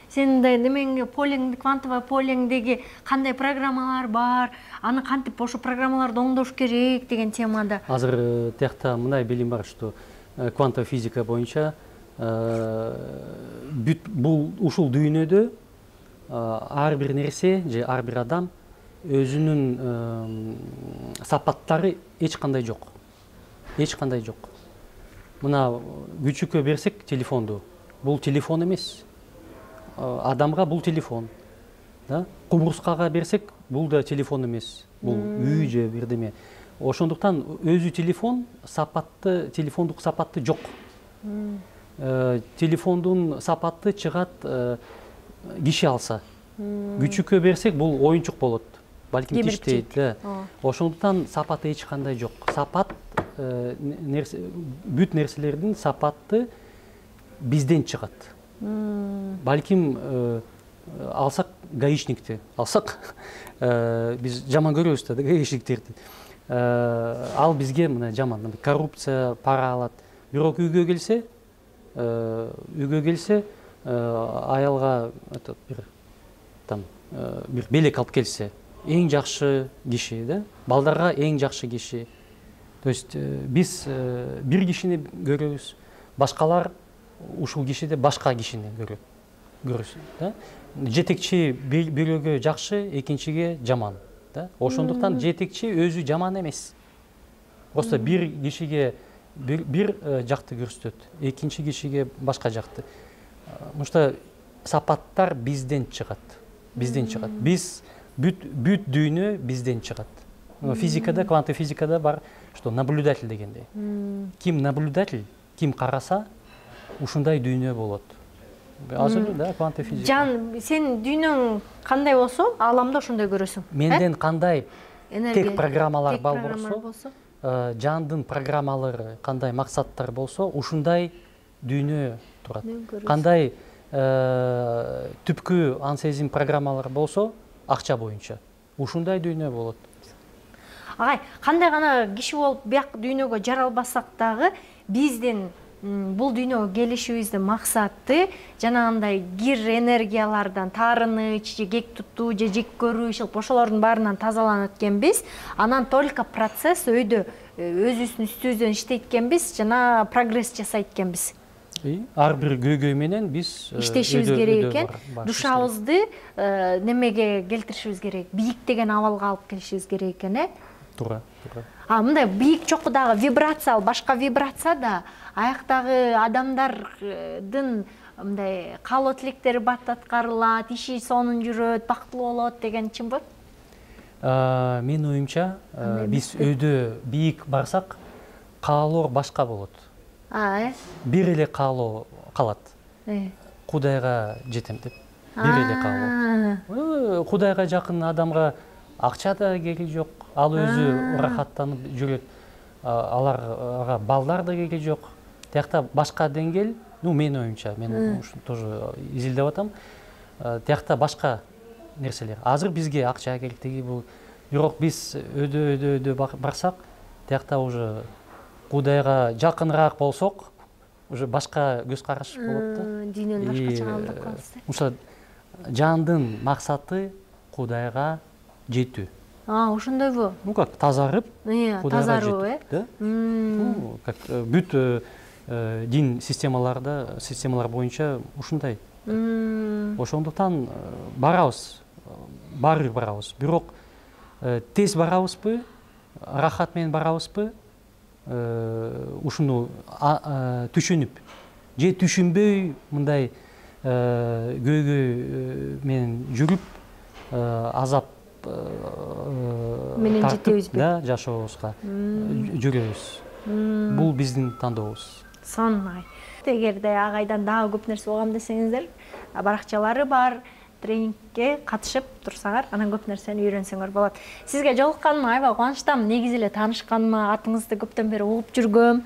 сендей немеңе полеңди, квантовый полеңдеги кандай программалар бар, аны кантип ошо программаларды оңдош керек деген темада. Азыр тиякта мындай билим бар, что квантовый физика боюнча бүт бул ушул дүйнөдө ар бир нерсе же ар бир адам өзүнүн сапаттары эч кандай жок. Эч кандай жок. Мына күчүккө берсек телефонду, бул телефон эмес. Адамга бул телефон. Да? Кумурскага берсек, бул да телефон эмес. Бул үй же бирдеме. Ошондуктан өзү телефон сапатты, телефондук сапатты жок. Телефондун сапатты чыгат киши алса. Күчүккө берсек, бул оюнчук болот. Балким тиштейт. Ошондуктан сапаты эч кандай жок. Сапат бүт нерселердин сапаты бизден чыгат. Балким алсак гаишникти, алсак биз жаман көрөбүз да гаишниктерди. Ал бизге мына жаман, коррупция, пара алат. Бирок үйгө келсе, үйгө келсе, аялга бир там бир белек алып келсе, эң жакшы киши, да? Балдарга эң жакшы киши. То есть биз бир кишини көрөбүз, башкалар ушул кишиде башка кишини көрөт. Көрөсүз, да? Жетекчи бирөөгө жакшы, экинчиге жаман, да? Ошондуктан жетекчи өзү жаман эмес. Просто бир кишиге бир жакты көрсөтөт, экинчи кишиге башка жакты. Потому что сапаттар бизден чыгат. Бизден чыгат. Биз бүт бүт дүйнө бизден чыгат. Физикада, квантовый физикада бар, что наблюдатель дегендей. Ким наблюдатель, ким караса, ушундай дүйнө болот. Азыр да, квантовый физика. Жан, сен дүйнөң кандай болсо, ааламда ошондой көрөсүң. Менден кандай тек программалар бар болсо, жандын программалары кандай максаттар болсо, ушундай дүйнө турат. Кандай түпкү ансезим программалар болсо, акча боюнча, ушундай дүйнө болот. Агай, кандай гана киши болуп бияк дүйнөгө жаралбасак дагы, биздин бул дүйнөгө келишибиздин максаты жанагындай кир энергиялардан таарыныч, же кек тутуу, же жек көрүү, ошолордун баарынан тазаланат экенбиз. Анан только процесс өйдө өзүбүздүн үстүбүздөн иштейт экенбиз, жана прогресс жасайт экенбиз. ар бир көйгөй менен биз иштешибиз керек экен. Душабызды немеге келтиришибиз керек, бийиктеген абалга алып келишибиз керек экен, э? Туура, туура. А мындай бийик чокудагы вибрация, башка вибрация да аяктагы адамдардын мындай каалоо тилектери бат аткарылат, иши сонун жүрөт, бактылуу болот деген чынбы? Менин оюмча, биз өйдө бийик барсак, каалоо башка болот. А, э? Бир эле каалоо калат. Кудайга жетем деп. Бир эле каалоо. Кудайга жакын адамга акча да кереги жок. Ал өзү рахаттанып жүрөт. Аларга балдар да кереги жок. Тиякта башка деңгел, ну менин оюмча, мен ушуну тоже изилдеп атам. Тиякта башка нерселер. Азыр бизге акча керектиги бул. Бирок биз өйдө өйдө өйдө барсак, тиякта уже Кудайга жакыныраак болсок, уже башка көз караш болот да. Дүйнөнү башкача кабылдап калабыз. Ошо жандын максаты Кудайга жетүү. А, ошондойбу? Ну как, тазарып, Кудайга жетүү, э? Ну, как бүт дин системаларда, системалар боюнча ушундай. Ошондуктан барабыз, баары барабыз. Бирок тез барабызбы, рахат менен барабызбы? Ушуну түшүнүп же түшүнбөй мындай көйгөй менен жүрүп азап менен жетебизби? Да, жашообузга жүрөбүз. Бул биздин тандообуз. Сонмай. Эгерде агайдан дагы көп нерсе угам десеңиздер, баракчалары бар, тренингке катышып турсаңар, анан көп нерсени үйрөнсөңөр болот. Сизге жолукканыма аябай кубанычтамын. Негизи эле таанышканыма, атыңызды көптөн бери угуп жүргөм.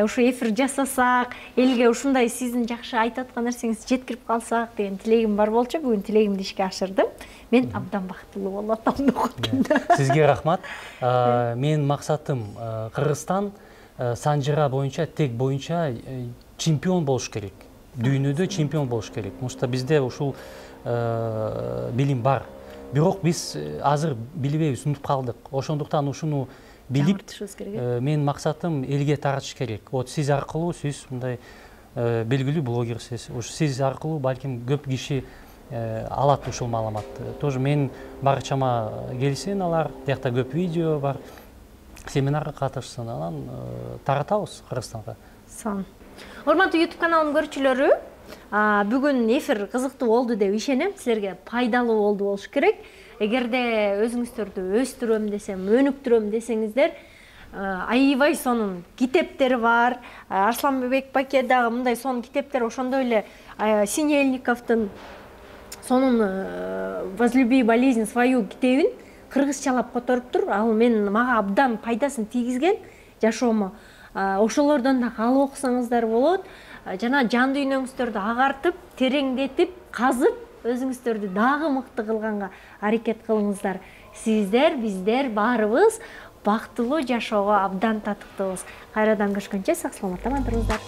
Ушу эфир жасасак, элге ушундай сиздин жакшы айтып аткан нерсеңизди жеткирип калсак деген тилегим бар болчу. Бүгүн тилегимди ишке ашырдым. Мен абдан бактылуу болуп атам деп коюм. Сизге рахмат. Менин максатым Кыргызстан санжыра боюнча, тек боюнча чемпион болуш керек. Дүйнөдө чемпион болуш керек. Мушта бизде ушул билим бар. Бирок биз азыр билбейбиз, унутуп калдык. Ошондуктан ушуну билип, менин максатым элге таратыш керек. Вот сиз аркылуу, сиз мындай белгилүү блогерсиз. Ушу сиз аркылуу балким көп киши алат ушул маалыматты. Тоже менин барчама келсин алар, тиякта көп видео бар. Семинарга катышсын, анан таратабыз Кыргызстанга. Сон. Урматтуу YouTube каналымдын көрүүчүлөрү, бүгүн эфир кызыктуу болду деп ишенем. Силерге пайдалуу болду болуш керек. Эгерде өзүңүздөрдү өстүрөм десем, өнүктүрөм десеңиздер, аябай сонун китептер бар. Арсланбек Баке дагы мындай сонун китептер, ошондой эле Синельниковдун сонун «Возлюби болезнь свою» китебин кыргызчалап которуптур. Ал мен мага абдан пайдасын тийгизген жашоомо. Ошолордон да алып окусаңыздар болот. Жана жан дүйнөңүздөрдү агартып, тереңдетип, казып, өзүңүздөрдү дагы мыкты кылганга аракет кылыңыздар. Сиздер, биздер баарыбыз бактылуу жашоого абдан татыктуубуз. Кайрадан көрүшкөнчө сак саламатта туруңуздар.